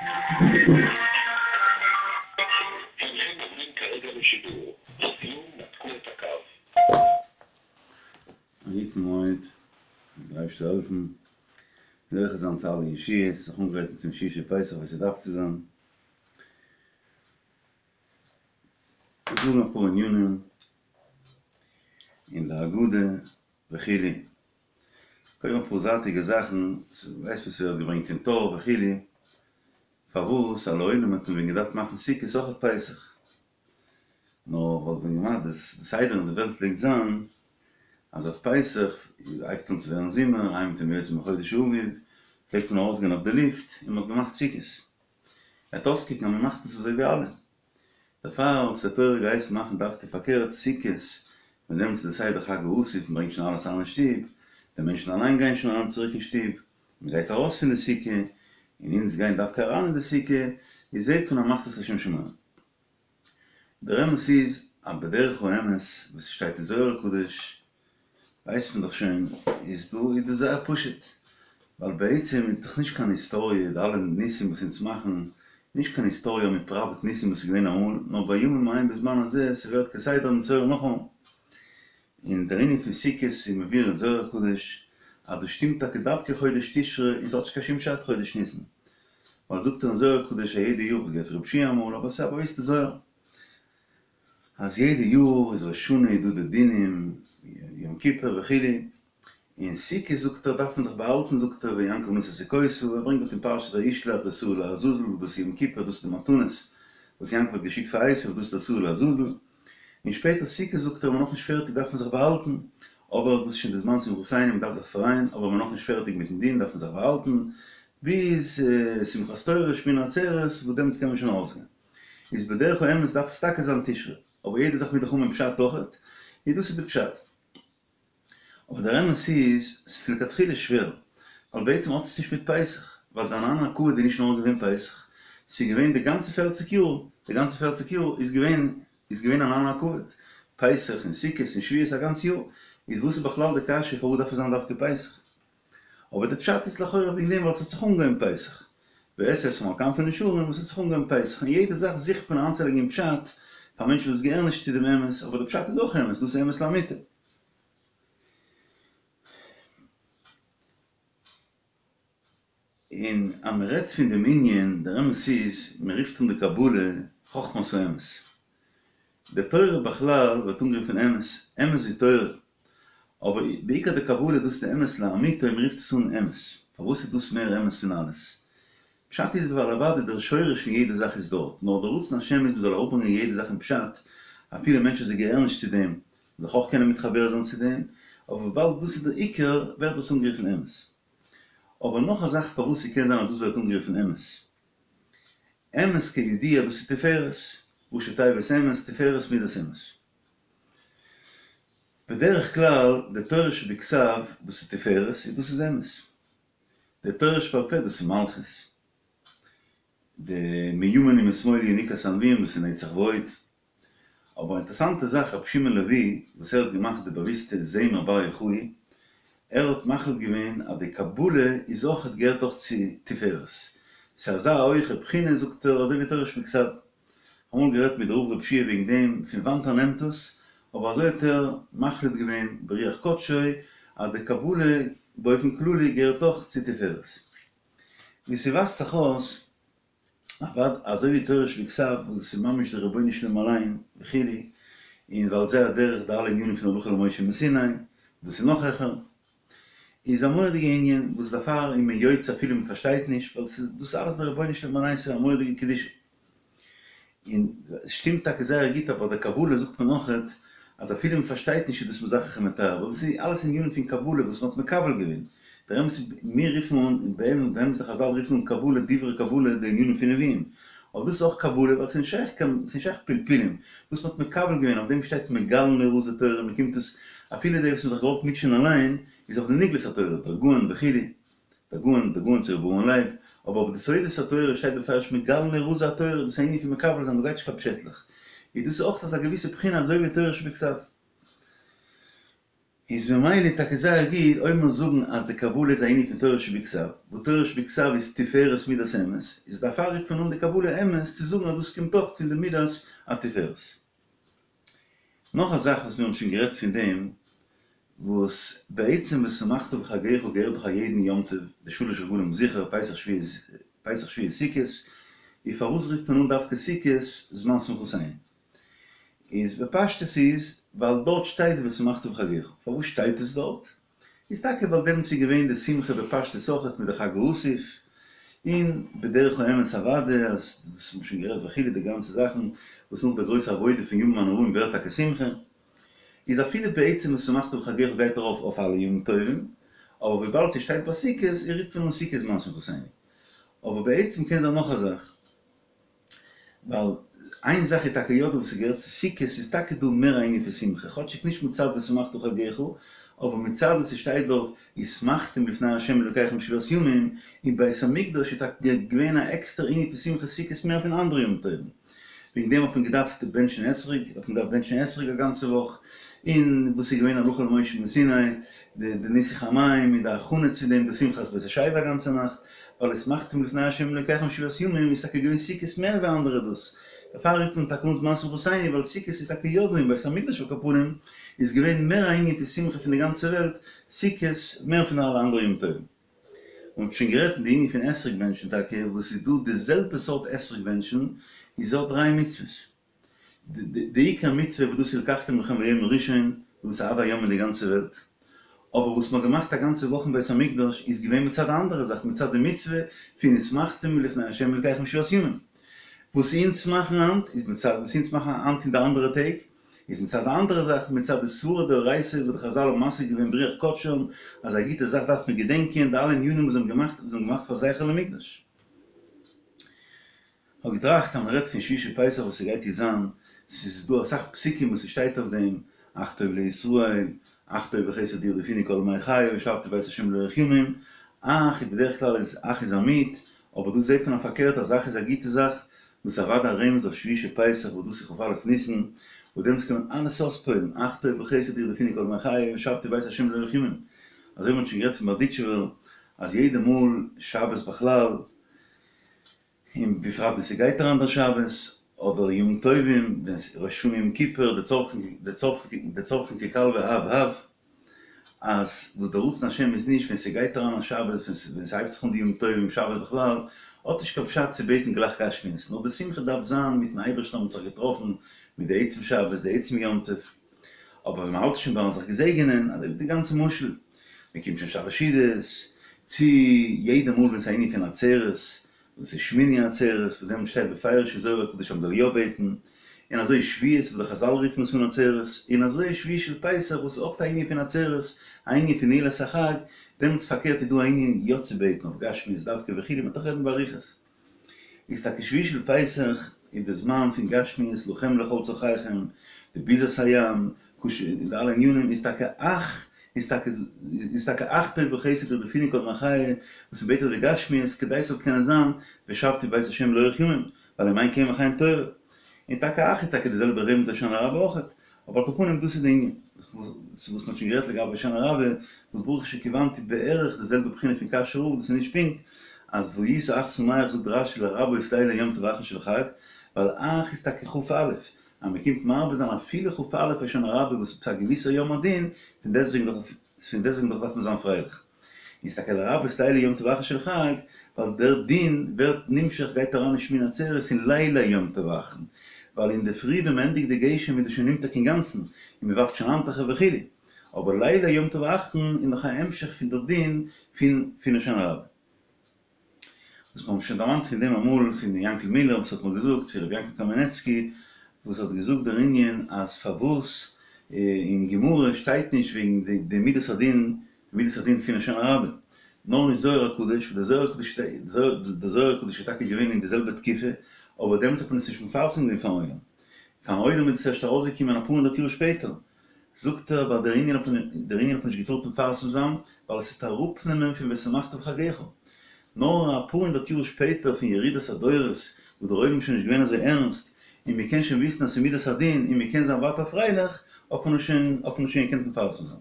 א גוטן מועד, דער אייבערשטער זאל העלפן, זוכה זיין צו אלע ישועות, זיך אנגרייטן צום שביעי של פסח ווי ס'דארף צו זיין. זאגן אפאר ענינים אין די הגדה וכו', קודם אפאר זייטיגע זאכן, ווייסט וואס ס'ווערט געברענגט אין טור וכו', פארוואס אז לעולם האט מען ווען געדארפט מאכן סוכות אויך אויף פסח, נאר ווייל זיי האבן געמאכט די סדר אין די וועלט פלעגט זיין אז אויף פסח הייבט אן צו ווערן זומער, אימתי יותר מחודש האביב, פלעגט מען ארויסגיין אויף די לופט און מ'האט געמאכט סוכות. וועט אויסקוקן אז מ'מאכט עס אזוי ווי אלע. דערפאר האט די תורה געהייסן מאכן דווקא פארקערט סוכות, ווען דעמאלטס איז די סדר חג האסיף, מ'ברענגט שוין אלעס אריין אין שטוב, די מענטשן אליין גייען שוין אריין צוריק אין שטוב, מ'גייט ארויס פון די סוכה, און אונז גייען דווקא אריין אין די סוכה, איז זעט מען אז מ'מאכט עס לשם שמים. דער אמת איז אז בדרך האמת וואס ס'שטייט אין זוהר הקדוש ווייסט מען דאך שוין איז דא איז דאס זייער פשוט ווייל בעצם איז דאך נישט קיין היסטאריע די אלע ניסים וואס אונז מאכן נישט קיין היסטאריע אז מ'פראוועט ניסים וואס איז געווען אמאל נאר בימים ההם בזמן הזה ס'ווערט כסדר נתעורר נאכאמאל און דער ענין פון סוכות איז מבואר אין זוהר הקדוש אז דאס שטימט טאקע דווקא חודש תשרי און ס'האט נישט קיין שום פשט חודש ניסן ווייל זאגט ער אין זוהר הקדוש אז יעדע יאר, כ'האב געהערט פון רב שיע אמאל, אבער ס'איז א באוויסטע זוהר, אז יעדע יאר איז ראש השנה איז דא די דינים, יום כיפור וכו', און סוכות זאגט ער דארף מען זיך באהאלטן זאגט ער ויעקב נסע סוכותה, ער ברענגט דארט אין פרשת וישלח די שעיר לעזאזל וואס דאס איז יום כיפור דאס איז די מתנות וואס יעקב האט געשיקט פאר עשו דאס איז די שעיר לעזאזל, און שפעטער סוכות זאגט ער מ'איז נאכנישט פערטיג דארף מען זיך באהאלטן, אבער דאס איז שוין די זמן שמחתינו מ'דארף זיך פרייען, אבער מ'איז נאכנישט פערטיג מיטן דין דארף מען זיך באהאלטן, ביז שמחת תורה שמיני עצרת וואס דעמאלטס קען מען שוין ארויסגיין. איז בדרך האמת דארף עס טאקע זיין תשרי, אבער יעדע זאך מוז דאך האבן פשט אויכעט, איז דאס איז די פשט. אבער דער אמת איז, ס'איז פון לכתחילה שווער, ווייל בעצם האט עס נישט מיט פסח, ווייל די ענני הכבוד איז נישט נאר געווען פסח, ס'איז געווען די גאנצע פערציג יאר, די גאנצע פערציג יאר איז געווען איז געווען ענני הכבוד, פסח און סוכות און שבועות א גאנץ יאר, איז וואס איז בכלל די קשיא פארוואס דארף עס זיין דווקא פסח? אבער די פשט איז לכאורה וועגן דעם ווייל ס'האט זיך אנגעהויבן פסח, ואשא אתכם על כנפי נשרים וואס האט זיך אנגעהויבן פסח, און יעדע זאך זוכט מען איינצולייגן אין פשט פאר מענטשן וואס געהערן נישט צו דעם אמת, אבער די פשט איז אויך אמת, דאס איז אמת לאמיתו. און אז מען רעדט פון דעם ענין, דער אמת איז, מען רופט אן די קבלה חכמת האמת. די תורה בכלל ווערט אנגערופן אמת, אמת איז תורה. אבער בעיקר די קבלה דאס איז די אמת לאמיתו, מען רופט עס אן אמת. פארוואס איז דאס מער אמת פון אלעס? פשט איז ווייל אוודאי דער שורש פון יעדע זאך איז דארט, נאר דער רצון השם איז מען זאל אראפברענגען יעדע זאך אין פשט, אפילו מענטשן וואס זיי געהערן נישט צו דעם, זיך אויך קענען מתחבר זיין צו דעם, אבער וויבאלד דאס איז דער עיקר ווערט דאס אנגערופן אמת. אבער נאך א זאך פארוואס ס'קען זיין אז דאס ווערט אנגערופן אמת. אמת כידוע דאס איז תפארת, ראשי תיבות אמת, תפארת מידת אמת. בדרך כלל די תורה שבכתב דאס איז תפארת און דאס איז אמת. די תורה שבעל פה דאס איז מלכות. די מימין ומשמאל יניקת הנביאים דאס איז נצח והוד. אבער א אינטערסאנטע זאך רבי שמעון לעווי וואס ער האט געמאכט די באוויסטע זמר בר יוחאי, ער האט מחליט געווען אז די קבלה איז אויכעט געהערט אויך צו תפארת, ס'איז אזא הויכע בחינה זאגט ער אזוי ווי תורה שבכתב. אמאל גערעדט מיט רב רב שיע וועגן דעם פון וואנט ער נעמט עס, אבער אזוי האט ער מחליט געווען ברוח קדשו אז די קבלה באופן כללי געהערט אויך צו תפארת. ווי ס'ווייזט זיך אויס אוודאי אזוי ווי תורה שבכתב וואס דאס איז ממש די רבונו של עולם אליין וכו', און ועל זה הדרך די אלע ענינים פון הלכה למשה מסיני, דאס איז נאך העכער, איז א מורא'דיגע ענין וואס דערפאר איז מען יוצא אפילו מען פארשטייט נישט, ווייל ס'איז דאס אלעס די רבונו של עולם אליין, ס'איז א מורא'דיגע קדושה. און עס שטימט טאקע זייער גוט אבער ביי די קבלה זאגט מען אויכעט אז אפילו מען פארשטייט נישט איז דאס מזכך ומטהר ווייל דאס איז אלעס ענינים פון קבלה וואס מען האט מקבל געווען, דער אמת איז מיר רופן אן באמת די חזל רופן אן קבלה דברי קבלה די ענינים פון נביאים, אבער דאס איז אויך קבלה ווייל ס'איז נישט שייך קיין ס'איז נישט שייך פלפולים וואס מען האט מקבל געווען אויף דעם שטייט מגלין רזי תורה מען קומט עס אפילו די וואס מען האט זיך געוואלט מוטשען אליין איז אויף די נגלות התורה דער גאון וכו'. דער גאון, דער גאון צו ר' אברהם לייב, אבער אויף די סודות התורה שטייט בפירוש מגלין רזי התורה, דאס איז א ענין פון מקבל זיין, דא גייט נישט קיין פשעטלעך. איז דאס אויך אזא געוויסע בחינה אזוי ווי תורה שבכתב. איז ממילא טאקע זייער גוט אויב מיר זאגן אז די קבלה איז א ענין פון תורה שבכתב, וואס תורה שבכתב איז תפארת מידת אמת, איז דערפאר רופט מען אן די קבלה אמת צו זאגן אז דאס קומט אויך פון די מידת התפארת. נאך א זאך וואס מיר האבן שוין גערעדט פון דעם, וואס בעצם ושמחת בחגך געהערט דאך א יעדן יום טוב, די שלש רגלים זיכער, פסח שבועות פסח שבועות סוכות, איז פארוואס רופט מען אן דווקא סוכות זמן שמחתינו? איז בפשטות איז ווייל דארט שטייט ושמחת בחגך, פארוואס שטייט עס דארט? איז טאקע ווייל דעמאלטס איז געווען די שמחה בפשטות אויכעט מיט די חג האסיף, און בדרך האמת אוודאי אז דאס האט מען שוין גערעדט וכו' די גאנצע זאכן וואס נאך די גרויסע עבודה פון ימים הנוראים ווערט טאקע שמחה, איז אפילו בעצם ושמחת בחגך גייט ארויף אויף אלע ימים טובים, אבער וויבאלד ס'שטייט ביי סוכות איז רופט מען אן סוכות זמן שמחתינו. אבער בעצם קען זיין נאך א זאך. ווייל איין זאך איז טאקע יא דא וואס ס'געהערט צו סוכות איז טאקע דא מער א ענין פון שמחה, כאטשיג נישט מצד ושמחת בחגך, אבער מצד וואס ס'שטייט דארט ושמחתם לפני ה' אלוקיכם שבעת ימים, אין בית המקדש איז טאקע געווען א עקסטער ענין פון שמחה סוכות מער פון אנדערע ימים טובים, וועגן דעם האט מען געדארפט בענטשן אתרוג, האט מען געדארפט בענטשן אתרוג א גאנצע וואך, און וואס איז געווען הלכה למשה מסיני, די ניסוך המים און די הכנה צו דעם, די שמחת בית השואבה א גאנצע נאכט. ווייל ושמחתם לפני ה' אלוקיכם שבעת ימים איז טאקע געווען סוכות מער ווי אנדערע דאס דערפאר רופט מען טאקע אן זמן שמחתינו ווייל סוכות איז טאקע יא דא אין בית המקדש על כל פנים איז געווען מער א ענין פון שמחה פון די גאנצע וועלט סוכות מער פון אלע אנדערע ימים טובים. מען האט שוין גערעדט אין די ענין פון אתרוג בענטשן טאקע וואס איז דא די זעלבע סארט אתרוג בענטשן איז דא דריי מצוות די עיקר מצוה וואס דאס איז ולקחתם לכם ביום הראשון, וואס דאס איז עד היום אין די גאנצע וועלט, אבער וואס מ'האט געמאכט א גאנצע וואך אין בית המקדש איז געווען מצד א אנדערע זאך, מצד די מצוה פון ושמחתם לפני ה' אלקיכם שבעת ימים. וואס אונז מאכן היינט איז מצד וואס אונז מאכן היינט אין די אנדערע טעג איז מצד א אנדערע זאך, מצד די סברא דאורייתא וואס די חזל האבן משיג געווען ברוח קדשם אז א גוטע זאך דארף מען געדענקען, די אלע ענינים וואס זיי האבן געמאכט וואס זיי האבן געמאכט פאר זכר למקדש. כ'האב געטראכט אז מ'רעדט פון שביעי של פסח וואס ס'גייט יעצט זיין, ס'איז דא אסאך פסוקים וואס ס'שטייט אויף דעם, אך טוב לישראל, אך טוב וחסד ירדפוני כל ימי חיי ושבתי בבית השם לאורך ימים, אך איז בדרך כלל איז אך איז א מיעוט, אבער דא זעט מען א פארקערט אז אך איז א גוטע זאך, דאס איז אוודאי א רמז אויף שביעי של פסח וואס דאס איז כ"א ניסן, וואס דעמאלטס קען מען אלעס אויספועל'ן, אך טוב וחסד ירדפוני כל ימי חיי ושבתי בבית השם לאורך ימים, אזוי ווי מ'האט שוין גערעדט פון בארדיטשובער אז יעדע מאל שבת בכלל, און בפרט ווען ס'גייט אריין דער שבת, אדער ימים טובים, ווען ראש השנה יום כיפור, די צורכים די צורכים ככלבי הב הב, אז וואס דער רצון השם איז נישט ווען ס'גייט אריין א שבת, ווען ס'הייבט זיך אן די ימים טובים, שבת בכלל, האט נישט קיין פשט צו בעטן גלייך גשמיות, נאר די שמחה דארף זיין מיטן אייבערשטן האט מען זיך געטראפן, מיט די עצם שבת, די עצם יום טוב. אבער ווען מ'האלט שוין ביים זיך געזעגענען, אזוי ווי די גאנצע משל, מ'קומט שוין שלש סעודות, צו יעדע מאל ווען ס'איז א ענין פון עצרת, וואס איז שמיני עצרת, וואס דעמאלט שטייט בפירוש אין זוהר הקדוש אז מ'זאל יא בעטן, און אזוי שבועות וואס די חזל רופן עס אן עצרת, און אזוי שביעי של פסח וואס איז אויך א ענין פון עצרת, א ענין פון נעילת החג, דעמאלטס פארקערט איז דא א ענין יא צו בעטן אויף גשמיות דווקא וכו', מ'וועט דאך רעדן באריכות. איז טאקע שביעי של פסח איז די זמן פון גשמיות לכם לכל צרכיכם, די ביזת הים, און די אלע ענינים איז טאקע אך איז טאקע איז טאקע אך טוב וחסד ירדפוני כל ימי חיי וואס מ'בעט אויף די גשמיות כדי ס'זאל קענען זיין ושבתי בבית השם לאורך ימים, ווייל אם אין קמח אין תורה. און טאקע אך איז טאקע די זעלבע רמז הושענא רבה אויכעט, אבער על כל פנים דאס איז די ענין. וואס מ'האט שוין גערעדט לגבי הושענא רבה, וואס ברוך שכיוונתי בערך די זעלבע בחינה פון קאשוי רב, דאס איז נישט פונקט, אז והיית אך שמח זאגט רש"י לרבות לילי יום טוב האחרון של חג, ווייל אך איז טאקע כ"א, אז מ'קומט מרבה זיין אפילו כ"א הושענא רבה וואס איז א געוויסער יום הדין, פון דעסטוועגן דאך פון דעסטוועגן דאך דארף מען זיין פרייליך. איז טאקע לרבות לילי יום טוב האחרון של חג, ווייל דער דין ווערט נמשך גייט אריין אין שמיני עצרת אין לילי יום טוב האחרון, ווייל אינדערפרי ווען מען ענדיגט די גשם איז דאס שוין נמתק אינגאנצן, און מען ווארפט שוין האנטוכער וכו', אבער לילי יום טוב האחרון איז נאך א המשך פון דער דין פון פון הושענא רבה. וואס מיר האבן שוין דערמאנט פון דעם אמאל פון יענקל מילער וואס האט מיר געזאגט פון רבי יענקל קאמענעצקי וואס האט געזאגט דער ענין אז פארוואס אין גמרא שטייט נישט וועגן די מידת הדין די מידת הדין פון הושענא רבה נאר אין זוהר הקדוש וואס דער זוהר הקדוש דער זוהר הקדוש איז טאקע געווען אין די זעלבע תקופה אבער דעמאלטס האט מען עס נישט מפרסם געווען פארן עולם פארן עולם איז עס ערשט ארויסגעקומען אפאר הונדערט יאר שפעטער זאגט ער ווייל דער ענין האט מען דער ענין האט מען נישט געטארט מפרסם זיין ווייל עס וועט אראפנעמען פון ושמחת בחגך. נאר אפאר הונדערט יאר שפעטער פון ירידת הדורות וואס דער עולם איז שוין נישט געווען אזוי ערנסט און מען קען שוין וויסן אז ס'איז מידת הדין און מען קען זיין ווייטער פרייליך האט מען עס שוין האט מען עס שוין געקענט מפרסם זיין.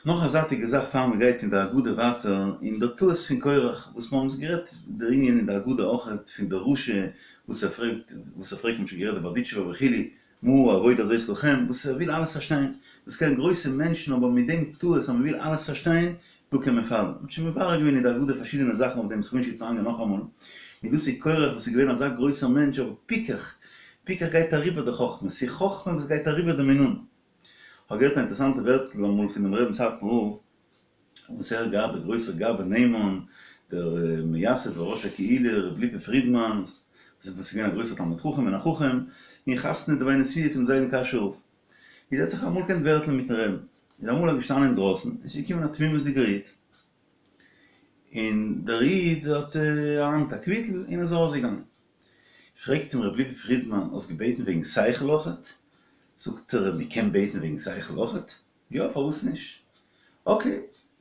נאך א זייטיגע זאך פאר מען גייט אין די הגדה ווייטער, אין דער טעות פון קורח, וואס מיר האבן עס גערעדט דער ענין אין די הגדה אויכעט פון דער רשע וואס ער פרעגט, וואס ער פרעגט מ'האט שוין גערעדט די בארדיטשובער וכו', מה העבודה הזאת לכם, וואס ער וויל אלעס פארשטיין, דאס קענען גרויסע מענטשן אבער מיט דעם טעות אז מען וויל אלעס פארשטיין, דא קען מען פאלן. מען האט שוין מברר געווען אין די הגדה פארשידענע זאכן אויף דעם, וואס כ'וויל נישט יעצט אריינגיין נאכאמאל, און דאס איז קורח וואס איז געווען אזא גרויסער מענטש אבער פיקח, פיקח גייט אריבער די חכמה, ס'איז חכמה וואס גייט אריבער די מינון. כ'האב געהערט א אינטערעסאנטע ווערטל אמאל פונעם רבין סאטמאר רב, וואס ער האט געהאט דער גרויסער גבאי נאמן, דער מייסד וראש הקהילה ר' ליפא פרידמאן, וואס איז געווען א גרויסער תלמיד חכם און א חכם, און חתנא דבי נשיאה פונעם זיידן קאשוי רב. איז ער האט זיך אמאל געקענט ווערטלען מיטן רבין. איז אמאל ער געשטאנען אינדרויסן, און ס'איז געקומען א תמימות'דיגער איד, און דער איד האט אריין מיט א קוויטל און איז ארויסגעגאנגען. פרעגט אים ר' ליפא פרידמאן, האסט געבעטן וועגן שכל אויכעט? זאגט ער, מ'קען בעטן וועגן שכל אויכעט? יא, פארוואס נישט? אקעי,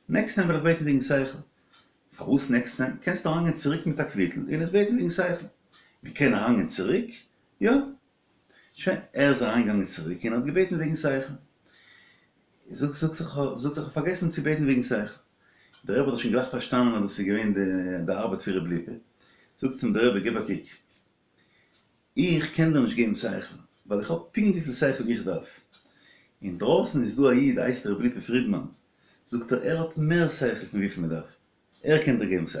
נעקסט טיים וועל איך בעטן וועגן שכל. פארוואס נעקסט טיים? קענסט אריינגיין צוריק מיט א קוויטל און עס בעטן וועגן שכל. מ'קען אריינגיין צוריק? יא. שוין, ער איז אריינגעגאנגען צוריק און האט געבעטן וועגן שכל. זאגט זאגט זיך זאגט ער כ'האב פארגעסן צו בעטן וועגן שכל. דער רבי האט דאך שוין גלייך פארשטאנען אז דאס איז געווען די ארבעט פון ר' ליפא. זאגט אים דער רבי גיב א קוק, איך קען דיר נישט געבן שכל, ווייל איך האב פונקט וויפיל שכל איך דארף. אינדרויסן איז דא א איד הייסט ר' ליפא פרידמאן, זאגט ער, ער האט מער שכל פון וויפיל מען דארף, ער קען דיר געבן שכל.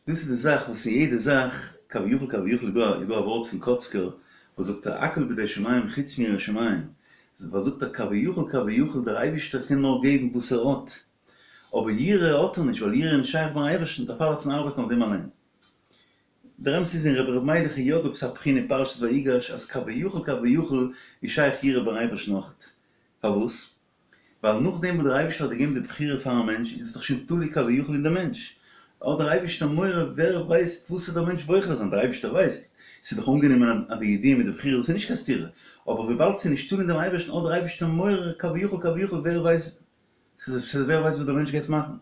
דאס איז די זאך וואס אין יעדע זאך, כביכול כביכול איז דא איז דא א ווארט פון קאצקער וואס זאגט ער הכל בידי שמים חוץ מיראת שמים, ווייל זאגט ער כביכול כביכול דער אייבישטער קען נאר געבן וואס ער האט, אבער יראה האט ער נישט ווייל יראה איז נישט שייך ביים אייבערשטן דערפאר דארף מען ארבעטן אויף דעם אליין. דער אמת איז אין רבי ר' מיילעך איז יא דא עפעס א בחינה אין פרשת ויגש אז כביכול כביכול איז שייך יראה ביים אייבערשטן אויכעט. פארוואס? ווייל נאכדעם וואס דער אייבערשטער האט געגעבן די בחירה פארן מענטש איז עס דאך שוין תלוי כביכול אין דעם מענטש, האט דער אייבערשטער מורא ווער ווייסט וואס וועט דער מענטש בוחר זיין, דער אייבערשטער ווייסט, ס'איז דאך אנגענומען אז די ידיעה מיט די בחירה דאס איז נישט קיין סתירה, אבער וויבאלד ס'איז נישט תלוי אין דעם אייבערשטן האט דער אייבערשטער מורא כביכול כביכול ווער ווייסט ווער ווייסט וואס דער מענטש גייט מאכן.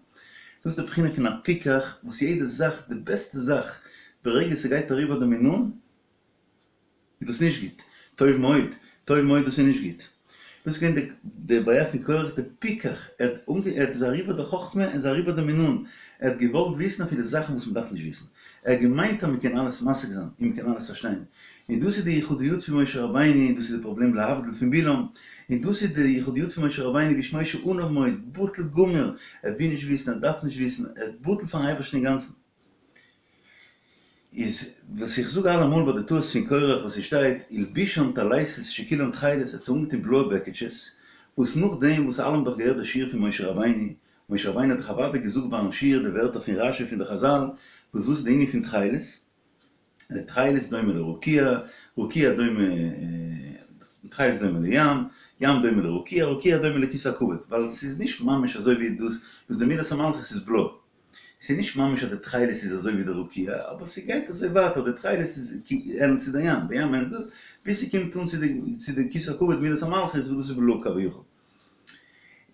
דאס איז די בחינה פון א פיקח וואס יעדע זאך, די בעסטע זאך, ברגע ס'גייט אריבער די מינון, איז דאס נישט גוט. טוב מאוד, טוב מאוד דאס איז נישט גוט. דאס איז געווען די די בעיה פון קורח די פיקח, ער האט אנגע ער האט איז אריבער די חכמה און איז אריבער די מינון, ער האט געוואלט וויסן אפילו זאכן וואס מען דארף נישט וויסן, ער האט געמיינט אז מען קען אלעס משיג זיין און מען קען אלעס פארשטיין, און דאס איז די יחודיות פון משה רבינו און דאס איז די פראבלעם להבדיל פון בלעם, און דאס איז די יחודיות פון משה רבינו והאיש משה עניו מאוד, בטל גמור, ער וויל נישט וויסן, ער דארף נישט וויסן, ער איז בטל פארן אייבערשטן אינגאנצן. איז וואס איך זאג אלעמאל ביי די טעות פון קורח וואס ס'שטייט הלבישם טליתות שכולן תכלת ער האט זיי אנגעטון בלויע בעקיטשעס וואס נאכדעם וואס אלע האבן דאך געהערט די שיעור פון משה רבינו, משה רבינו האט דאך אוודאי געזאגט ביים שיעור די ווערטער פון רשי פון די חזל וואס וואס איז די ענין פון תכלת? די תכלת דומה לרקיע, רקיע דומה תכלת דומה לים, ים דומה לרקיע, רקיע דומה לכסא הכבוד, ווייל ס'איז נישט ממש אזוי ווי דאס וואס די מידת המלכות איז בלוי. ס'איז נישט ממש אז די תכלת איז אזוי ווי די רקיע, אבער ס'גייט אזוי ווייטער, די תכלת איז ענדלט צו די ים, די ים ענדלט דאס, ביז ס'קומט אן צו די צו די כסא הכבוד מידת המלכות וואס דאס איז בלוי כביכול.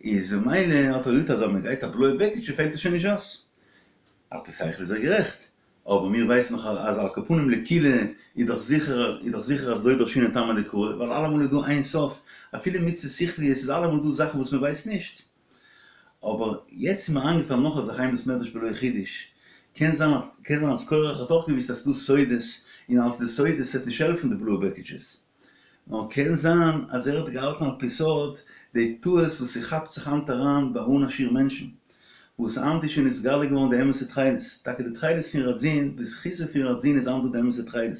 איז ממילא האט ער געזאגט אז אויב מ'גייט א בלויע בעקיטשע פעלט עס שוין נישט אויס. על פי שכל איז ער גערעכט, אבער מיר ווייסן דאך אז על כל פנים לקולא איז דאך זיכער איז דאך זיכער אז לא דרשינן טעמא דקרא, ווייל אלעמאל איז דא איין סוף, אפילו מצוות שכליות איז אלעמאל דא זאכן וואס מ'ווייסט נישט. אבער יעצט איז מיר איינגעפאלן נאך א זאך אין בית מדרש בלא חידוש, קען זיין קען זיין אז קורח האט אויך געוויסט אז ס'דא סודות און אלס די סודות וועט נישט העלפן די בלויע בעקיטשעס, נאר קען זיין אז ער האט געהאלטן על פי סוד די טעות וואס ס'כאפט זיך היינט אריין ביי אן א שיעור מענטשן, וואס היינט איז שוין נתגלה געווארן די אמת'ע תכלת, טאקע די תכלת פון רדזין, בזכותו פון רדזין איז היינט דא די אמת'ע תכלת,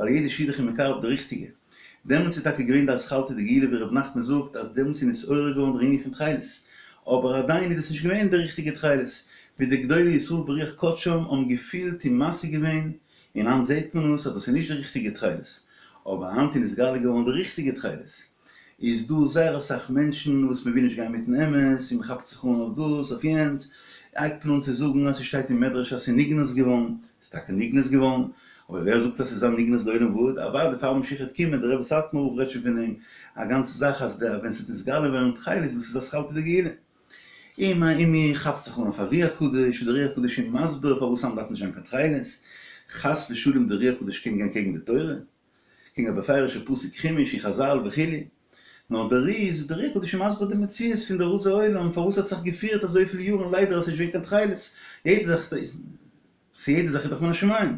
ווייל יעדע שידוך איז מקרב די ריכטיגע. דעמאלטס איז טאקע געווען די אתחלתא דגאולה ווי ר' נחמן זאגט אז דעמאלטס איז נתעורר געווארן דער ענין פון תכלת, אבער עדיין איז דאס נישט געווען די ריכטיגע תכלת, ווי די גדולי ישראל ברוח קדשם האבן געפילט און משיג געווען, און היינט זעט מען עס אז דאס איז נישט די ריכטיגע תכלת, אבער היינט איז נתגלה געווארן די ריכטיגע תכלת. איז דא זייער אסאך מענטשן וואס מען וויל נישט גיין מיטן אמת און מען כאפט זיך אן אויף דאס אויף יענץ, הייבט מען אן צו זאגן אז ס'שטייט אין מדרש אז ס'איז נגנז געווארן, ס'איז טאקע נגנז געווארן, אבער ווער זאגט אז ס'איז זיין נגנז לעולם ועד? אוודאי פאר משיח וועט קומען, דער רבי סאטמאר רב רעדט שוין פון דעם א גאנצע זאך אז די ווען ס'וועט נתגלה ווערן תכלת דאס איז אתחלתא דגאולה. און מען כאפט זיך אן אויף ארי הקדוש, און דער ארי הקדוש איז מסביר פארוואס היינט דארף נישט זיין קיין תכלת, חס ושלום דער ארי הקדוש קען גיין קעגן די תורה, קעגן א בפירוש'ע פסוק חומש און חזל וכו'. נאר דער אר"י איז דער אר"י הקדוש איז מסביר די מציאות פון די רזי עולם פארוואס האט זיך געפירט אזויפיל יארן ליידער אז ס'איז נישט געווען קיין תכלת, יעדע זאך איז יעדע זאך איז דאך מן השמים,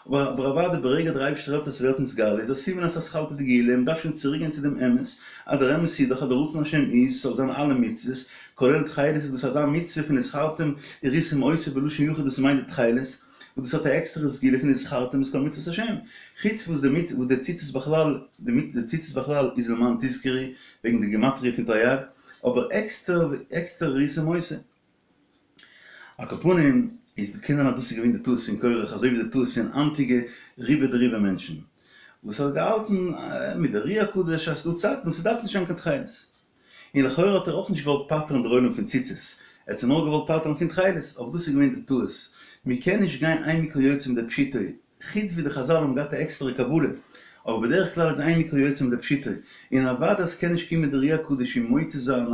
אבער אבער אוודאי ברגע דער אייבערשטער העלפט אז ס'ווערט נתגלה איז א סימן אז אתחלתא דגאולה, מ'דארף שוין צוריק גיין צו דעם אמת, אז דער אמת איז דאך אז דער רצון השם איז ס'זאל זיין אלע מצוות, כולל תכלת איז דאס אזא מצוה פון וזכרתם וראיתם אותו בלשון יחיד דאס מיינט די תכלת, וואס דאס האט א עקסטערע סגולה פון וזכרתם את כל מצוות השם, חוץ וואס די מצוה וואס די ציצית בכלל די ציצית בכלל איז למען תזכרו וועגן די גימטריא פון תרי"ג, אבער עקסטער עקסטער וראיתם אותו. על כל פנים, איז קען זיין אז דאס איז געווען די טעות פון קורח אזוי ווי די טעות פון היינטיגע רובא דרובא מענטשן וואס האט געהאלטן מיט די אר"י הקדוש אז ס'דא צייטן וואס ס'דארף נישט זיין קיין תכלת. און לכאורה האט ער אויך נישט געוואלט פטר'ן דער עולם פון ציצית, ער האט זיי נאר געוואלט פטר'ן פון תכלת, אבער דאס איז געווען די טעות, מען קען נישט גיין אין מקרא יוצא מידי פשוטו, חוץ ווי די חזל האבן געהאט א עקסטערע קבלה, אבער בדרך כלל איז אין מקרא יוצא מידי פשוטו, און אוודאי עס קען נישט קומען דער אר"י הקדוש און מוציא זיין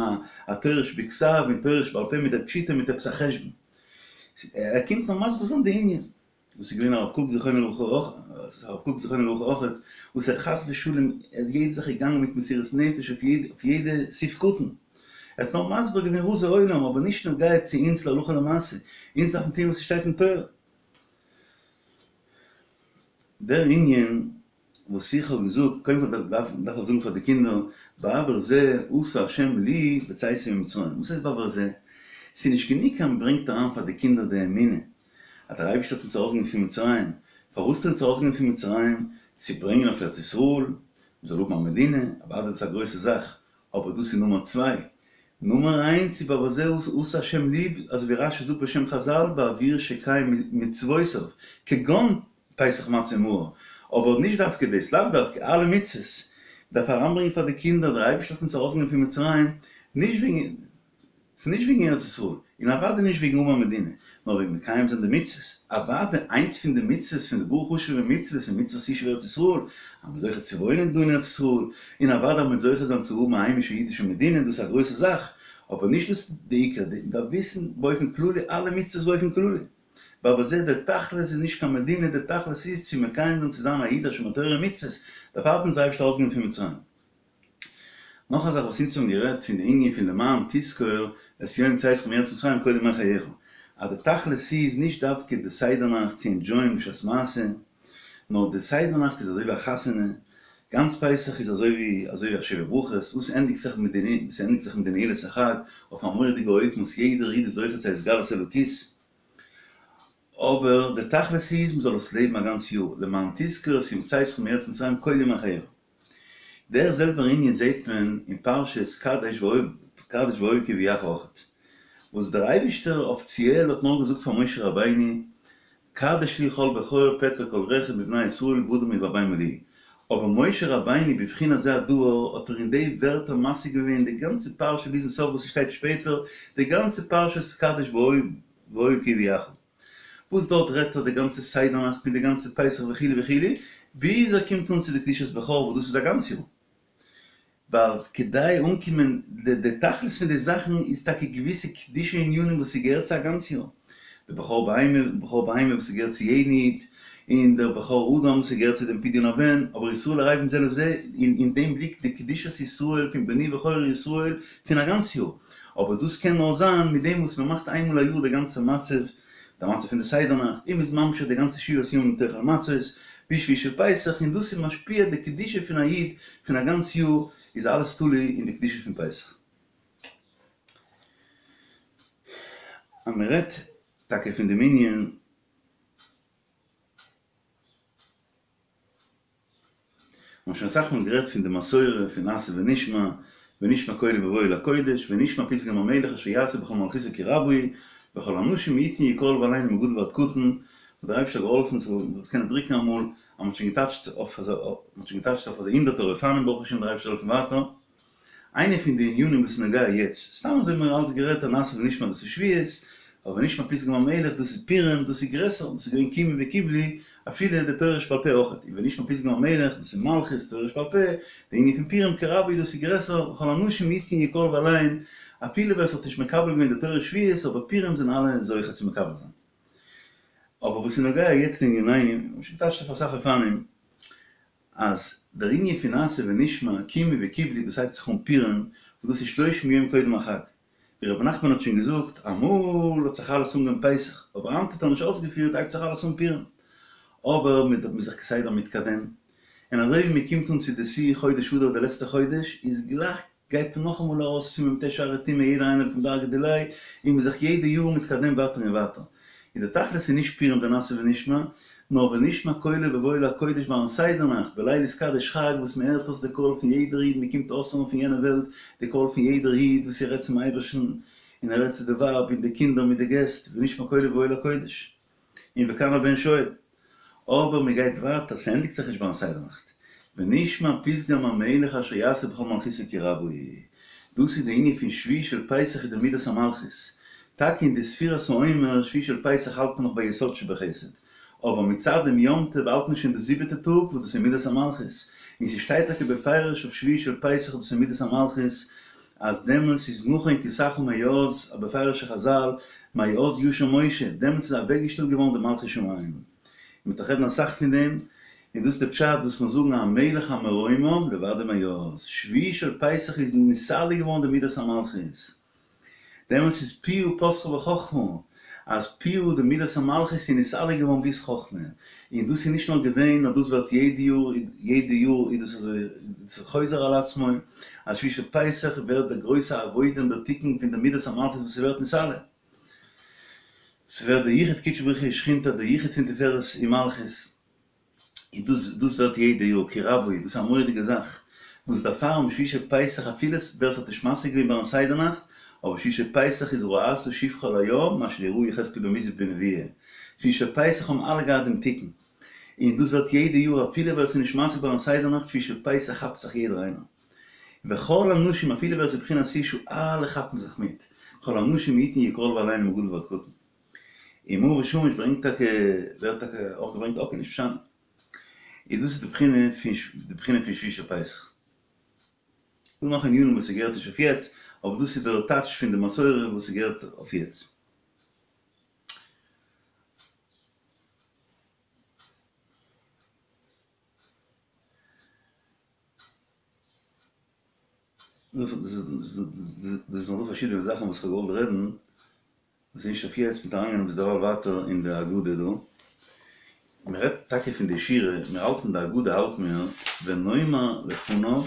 א תורה שבכתב און תורה שבעל פה מיט די פשוטו מיט עפעס א חשבון. ער קומט נאר מסביר זיין די ענין. וואס איז געווען הרב קוק זכרונו לברכה אויך, הרב קוק זכרונו לברכה אויך, וואס ער חס ושלום ער איז יעדע זאך געגאנגען מיט מסירות נפש אויף יעדע אויף יעדע סעיף קטן, ער האט נאר מסביר געווען רזי עולם אבער נישט נוגע צו אונז להלכה למעשה, אונז דארפן טון וואס ס'שטייט אין תורה. דער ענין וואס איך האב געזאגט, קודם כל דארף דארף מען זאגן פאר די קינדער, בעבור זה עשה השם לי בצאתי ממצרים, וואס הייסט בעבור זה? ס'איז נישט גענוג אז מ'ברענגט אריין פאר די קינדער די אמונה אז דער אייבערשטער האט אונז ארויסגענומען פון מצרים, פארוואס האט ער אונז ארויסגענומען פון מצרים? צו ברענגען אויף ארץ ישראל, מ'זאל האבן א מדינה, אוודאי דאס איז א גרויסע זאך, אבער דאס איז נומער צוויי. נומער איינס איז בעבור זה עשה השם לי, אזוי ווי רש"י זאגט בשם חזל, בעבור שקיים מצוותיו, כגון פסח מצה ומרור, אבער נישט דווקא דאס, לאו דווקא, אלע מצוות, מ'דארף אריינברענגען פאר די קינדער, דער אייבערשטער האט אונז ארויסגענומען פון מצרים, נישט וועגן, ס'איז נישט וועגן ארץ ישראל, און אוודאי נישט וועגן האבן א מדינה, נאר וועגן מקיים זיין די מצוות. אוודאי איינס פון די מצוות, פון די גאר חשוב'ע מצוות, איז מצוות ישוב ארץ ישראל, אז מ'איז זוכה צו וואוינען דא אין ארץ ישראל, און אוודאי אז מ'וועט זוכה זיין צו האבן א היימישע אידישע מדינה, דאס איז א גרויסע זאך, אבער נישט דאס איז די עיקר, מ'דארף וויסן באופן כללי אלע מצוות באופן כללי. בעבור זה דער תכלית איז נישט קיין מדינה, דער תכלית איז צו מקיים זיין צו זיין א איד א שומר תורה ומצוות, דערפאר האט אונז דער אייבערשטער ארויסגענומען פון מצרים. נאך א זאך וואס אונז האבן גערעדט פון די ענין פון למען תזכור את יום צאתך מארץ מצרים כל ימי חייך, אז די תכלית איז נישט דווקא די סדר נאכט צו ענדזשויען בשעת מעשה, נאר די סדר נאכט איז אזוי ווי א חתונה, גאנץ פסח איז אזוי ווי אזוי ווי א שבע ברכות וואס ענדיגט זיך מיט די וואס ענדיגט זיך מיט די נעילת החג אויף א מורא'דיגע אופן וואס יעדער איד איז זוכה צו התגלות אלוקית, אבער די תכלית איז מ'זאל עס לעבן א גאנץ יאר, למען תזכור את יום צאתך מארץ מצרים כל ימי חייך. דער זעלבער ענין זעט מען אין פרשת קדש קדש והיה כי יביאך אויכעט, וואס דער אייבישטער אפיציעל האט נאר געזאגט פאר משה רבינו קדש לי כל בכור פטר כל רחב מבני ישראל באדם ובבהמה לי, אבער משה רבינו בבחינת זה הדבר האט ער אין די ווערטער משיג געווען די גאנצע פרשה ביזן סוף וואס ס'שטייט שפעטער די גאנצע פרשת קדש והיה כי יביאך. וואס דארט רעדט ער די גאנצע סדר נאכט מיט די גאנצע פסח וכו' וכו', ביז ער קומט אן צו די קדושת בכור וואס דאס איז א גאנץ יאר. ווייל כדי אנקומען, די די תכלית פון די זאכן איז טאקע געוויסע קדושה ענינים וואס ס'געהערט צו א גאנץ יאר. די בכור בהמה, בכור בהמה וואס ס'געהערט צו יעדן איד, און דער בכור אדם וואס ס'געהערט צו דעם פדיון הבן, אבער ישראל ערבים זה לזה, אין אין דעם ליגט די קדושת ישראל פון בני בכורי ישראל פון א גאנץ יאר. אבער דאס קען נאר זיין מיט דעם וואס מען מאכט איינמאל א יאר די גאנצע מצב, די מצב פון די סדר נאכט, און מ'איז ממשיך די גאנצע שבעת ימים תאכל מצות, ביז שביעי של פסח, און דאס איז משפיע די קדושה פון א איד פון א גאנץ יאר, איז אלעס תלוי אין די קדושה פון פסח. אז מען רעדט טאקע פון דעם ענין. מ'האט שוין אסאך מאל גערעדט פון די מסורה פון נעשה ונשמע, ונשמע קולו בבואו אל הקודש, ונשמע פתגם המלך אשר יעשה בכל מלכותו כי רבה היא, וכל האנשים יתנו יקהל ועלינו מגדול ועד קטן, האט דער אייבערשטער געהאלפן מ'זאל עס קענען דרוקן אמאל, אז מ'האט שוין געטאטשט אויף מ'האט שוין געטאטשט אויף אזוי הונדערטער אופנים ברוך השם דער אייבערשטער זאל העלפן ווייטער. איינע פון די ענינים וואס איז נוגע יעצט, סתם אזוי האבן מיר אלץ גערעדט אז נעשה ונשמע דאס איז שבועות, אבער ונשמע פתגם המלך דאס איז פורים, דאס איז גרעסער, דאס איז געווען קימו וקיבלו, אפילו די תורה שבעל פה אויכעט, און ונשמע פתגם המלך דאס איז מלכות, תורה שבעל פה, די ענין פון פורים כי רבה היא דאס איז גרעסער, וכל האנשים יתנו יקהל ועליהן, אפילו ווער עס האט נישט מקבל געווען די תורה שבועות, אבער פורים זענען אלע זוכה צו מקבל זיין. אבער וואס איז נוגע יעצט לענינינו, מ'האט שוין געטאטשט אויף אסאך אופנים. אז דער ענין פון נעשה ונשמע, קימו וקיבלו, דאס הייבט זיך אן פורים, וואס דאס איז שלושים יום קודם החג. ווי רבי נחמן האט שוין געזאגט, אמאל האט זיך אלעס אנגעהויבן פסח, אבער היינט האט ער נישט אויסגעפירט, הייבט זיך אלעס אן פורים. אבער מען איז זיך כסדר מתקדם, און אזוי ווי מען קומט אן צו די שיא חודש אדר די לעצטע חודש, איז גלייך גייט מען נאכאמאל ארויס פון מ"ט שערי טומאה יעדער איינער לפום דרגא דיליה, און מ'איז זיך יעדע יאר מתקדם ווייטער און ווייטער. און די תכלית איז נישט פורים די נעשה ונשמע, נאר ונשמע קולו בבואו אל הקודש ביים סדר נאכט, בליל התקדש חג וואס מען הערט אויס די קול פון יעדער איד, מען קומט אויסהערן פון יענע וועלט די קול פון יעדער איד וואס ער רעדט צום אייבערשטן, און ער רעדט צו די ווייב און די קינדער מיט די געסט, ונשמע קולו בבואו אל הקודש. און וכאן הבן שואל. אבער מען גייט ווייטער, ס'ענדיגט זיך נישט ביים סדר נאכט. ונשמע פתגם המלך אשר יעשה בכל מלכותו כי רבה היא. דאס איז די ענין פון שביעי של פסח איז די מידת המלכות. טאקע אין די ספירת העומר שביעי של פסח האלט מען נאך ביי יסוד שבחסד. אבער מצד דעם יום טוב האלט מען שוין די זיבעטע טאג וואס דאס איז מידת המלכות. און ס'שטייט טאקע בפירוש אויף שביעי של פסח דאס איז מידת המלכות אז דעמאלטס איז נכון כסאך מאז, א בפירוש'ע חזל, מאז ישב משה, דעמאלטס איז אוועקגעשטעלט געווארן די מלכות שמים. און מ'וועט דאך רעדן אסאך פון דעם, און דאס איז די פשט וואס מיר זאגן המלך המרומם לבדו מאז, שביעי של פסח איז נתעלה געווארן די מידת המלכות. דעמאלטס איז פיה פתחה בחכמה, אז פיה די מידת המלכות איז נתעלה געווארן ביז חכמה, און דאס איז נישט נאר געווען נאר דאס ווערט יעדע יאר, יעדע יאר איז דאס אזוי חוזר על עצמו, אז שביעי של פסח ווערט די גרויסע עבודה און דער תיקון פון די מידת המלכות וואס ס'ווערט נתעלה, ס'ווערט די יחוד קודשא בריך הוא ושכינתיה, די יחוד פון תפארת און מלכות. און דאס דאס ווערט יעדע יאר כי רבה היא, דאס איז א מורא'דיגע זאך, וואס דערפאר אום שביעי של פסח אפילו ווער ס'האט נישט משיג געווען ביים סדר נאכט, אבער שביעי של פסח איז ראתה שפחה על הים מה שלא ראה יחזקאל בן בוזי בנבואה, שביעי של פסח האבן אלע געהאט דעם תיקון, און דאס ווערט יעדע יאר אפילו ווער ס'איז נישט משיג ביים סדר נאכט שביעי של פסח כאפט זיך יעדער איינער. וכל הנשים אפילו ווער ס'איז בחינת אשה אלע כאפן זיך מיט, כל הנשים יתנו יקרלו עלינו מגדול ועד קטן. אין מאור ושמש ברענגט טאקע, ווערט טאקע אויך געברענגט אקעי נישט משנה. איז דאס איז די בחינה פון די בחינה פון שביעי של פסח. דא נאך ענינים וואס ס'געהערט נישט אויף יעצט, אבער דאס איז דער טייטש פון די מסורה וואס ס'געהערט אויף יעצט. דאס איז נאך דא פארשידענע זאכן וואס כ'האב געוואלט רעדן. וואס איז נישט אויף יעצט מ'וועט אריינגיין ביזדערווייל ווייטער אין די הגדה דא. מען רעדט טאקע פון די שירה, מיר האלטן די הגדה האלט מיר ונאמר לפניו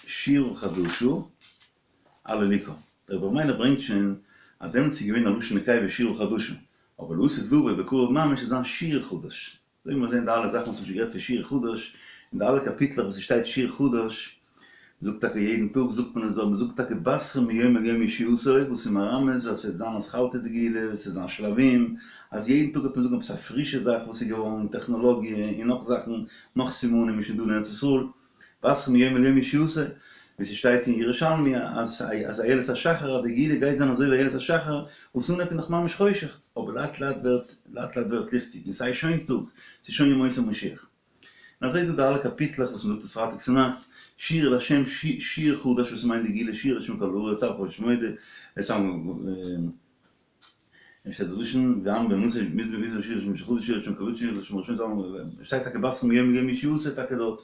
שירה חדשה הללוקה. דער רבי ר' מיילך ברענגט שוין אז דעמאלטס איז געווען א לשון נקבה שירה חדשה, אבער לעתיד לבוא בקרוב ממש וועט זיין שיר חדש. אזוי ווי מיר זעהן די אלע זאכן וואס מ'האט שוין גערעדט פון שיר חדש, אין די אלע קאפיטלעך וואס ס'שטייט שיר חדש, מ'זאגט טאקע יעדן טאג זאגט מען עס דארט, מ'זאגט טאקע בתרים מיום אל יום ישועתו, וואס איז מרמז אז ס'וועט זיין אתחלתא דגאולה, ס'וועט זיין שלבים, אז יעדן טאג וועט מען זאגן עפעס א פרישע זאך וואס איז געווארן אין טעכנאלאגיע און נאך זאכן, נאך סימנים איז שוין דא אין ארץ ישראל. בתרים מיום אל יום ישועתו, ווי ס'שטייט אין ירושלמי אז אז איילת השחר אז די גאולה גייט זיין אזוי ווי איילת השחר, וואס אנהייב איז נאך ממש חושך, אבער לאט לאט ווערט לאט לאט ווערט ליכטיג און ס'איז שוין טאג, ס'איז שוין ימות המשיח. און אזוי איז דא די אלע קאפיטלעך וואס מ'זאגט עס פרייטאג צונאכטס, שירו לה' שיר חדש וואס מיינט די גאולה שירו לה' כל הארץ אף ראש מודה, עס שטייט די לשון ועם באמונתו מזמור שיר לשם חדש שיר לשם קדוש שיר לשם ראשון שטייט טאקע בתרים מיום אל יום ישועתו טאקע דארט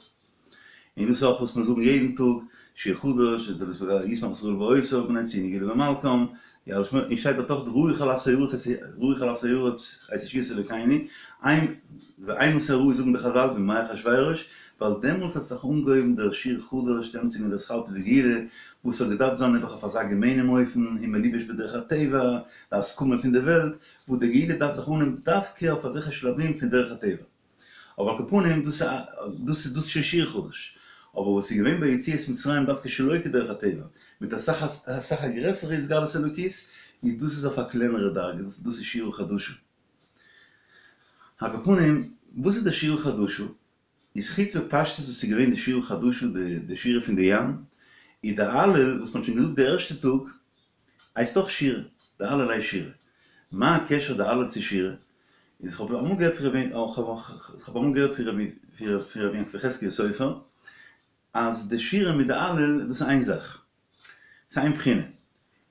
און דאס איז אויך וואס מיר זאגן יעדן טאג שיר חדש ישמח ישראל בעושי בני ציון יגילו במלכם און שטייט דארט אויך ראו כל אפסי ארץ ראו כל אפסי ארץ את ישועת אלוקינו ואימתי ראו זאגן די חזל בימי אחשורוש ווייל דעמאלטס האט זיך אנגעהויבן דער שיר חדש, דעמאלטס איז געווען די אתחלתא דגאולה, וואס האט געדארפט זיין נעבעך אויף אזא געמיינעם אופן, און מלובש בדרך הטבע, די הסכמה פון די וועלט, וואס די גאולה דארף זיך אנהייבן דווקא אויף אזעלכע שלבים פון דרך הטבע. אבער על כל פנים, דאס דאס איז דאס שוין שיר חדש. אבער וואס איז געווען ביי יציאת מצרים דווקא שלא כדרך הטבע, מיט אסאך אסאך א גרעסערע התגלות אלוקית, איז דאס איז אויף א קלענערע דרגה, דאס איז שירה חדשה. על כל פנים, וואס איז די שירה חדשה? איז חוץ בפשטות וואס איז געווען די שירה חדשה די שירה פון די ים, איז די הלל וואס מ'האט שוין געזאגט די ערשטע טאג הייסט אויך שירה, די הלל הייסט שירה. מה הקשר די הלל צו שירה? איז כ'האב אמאל געהערט פון רבי כ'האב אמאל געהערט פון רבי פון רבי יעקב יחזקיה סופר אז די שירה מיט די הלל דאס איז איין זאך, ס'איז איין בחינה,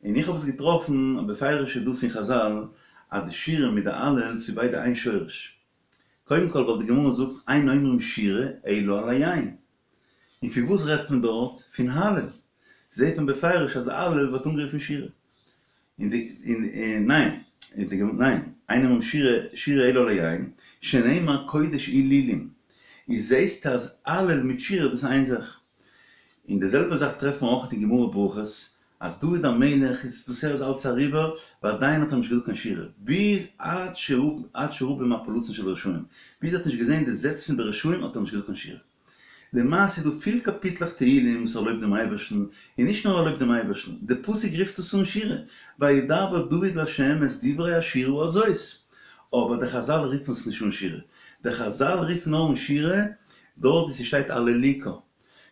און איך האב עס געטראפן בפירוש איז דאס אין חזל אז די שירה מיט די הלל ס'איז ביידע איין שורש. קודם כל ווייל די גמרא זאגט אין אומרים שירה אלא על היין. און פון וואס רעדט מען דארט? פון הלל. זעהט מען בפירוש אז הלל ווערט אנגערופן שירה. און די און ניין, און די ניין, אין אומרים שירה שירה אלא על היין, שנאמר קודש הילולים. איז זעהסטו אז הלל מיט שירה דאס איז איין זאך. און די זעלבע זאך טרעפט מען אויך אין גמרא ברכות, אז דוד המלך איז וואס ער איז אלץ אריבער, ועדיין האט ער נישט געזאגט קיין שירה, ביז עד שראה עד שראה במפלתן של רשעים, ביז ער האט נישט געזען די זעץ פון די רשעים האט ער נישט געזאגט קיין שירה. למעשה איז דא פיל קאפיטלעך תהילים וואס ער לויבט דעם אייבערשטן, און נישט נאר ער לויבט דעם אייבערשטן, די פסוק רופט עס אן שירה, וידבר דוד לה' את דברי השירה הזאת, אבער די חזל רופן עס נישט אן שירה, די חזל רופן נאר אן שירה דארט וואו ס'שטייט הללוקה,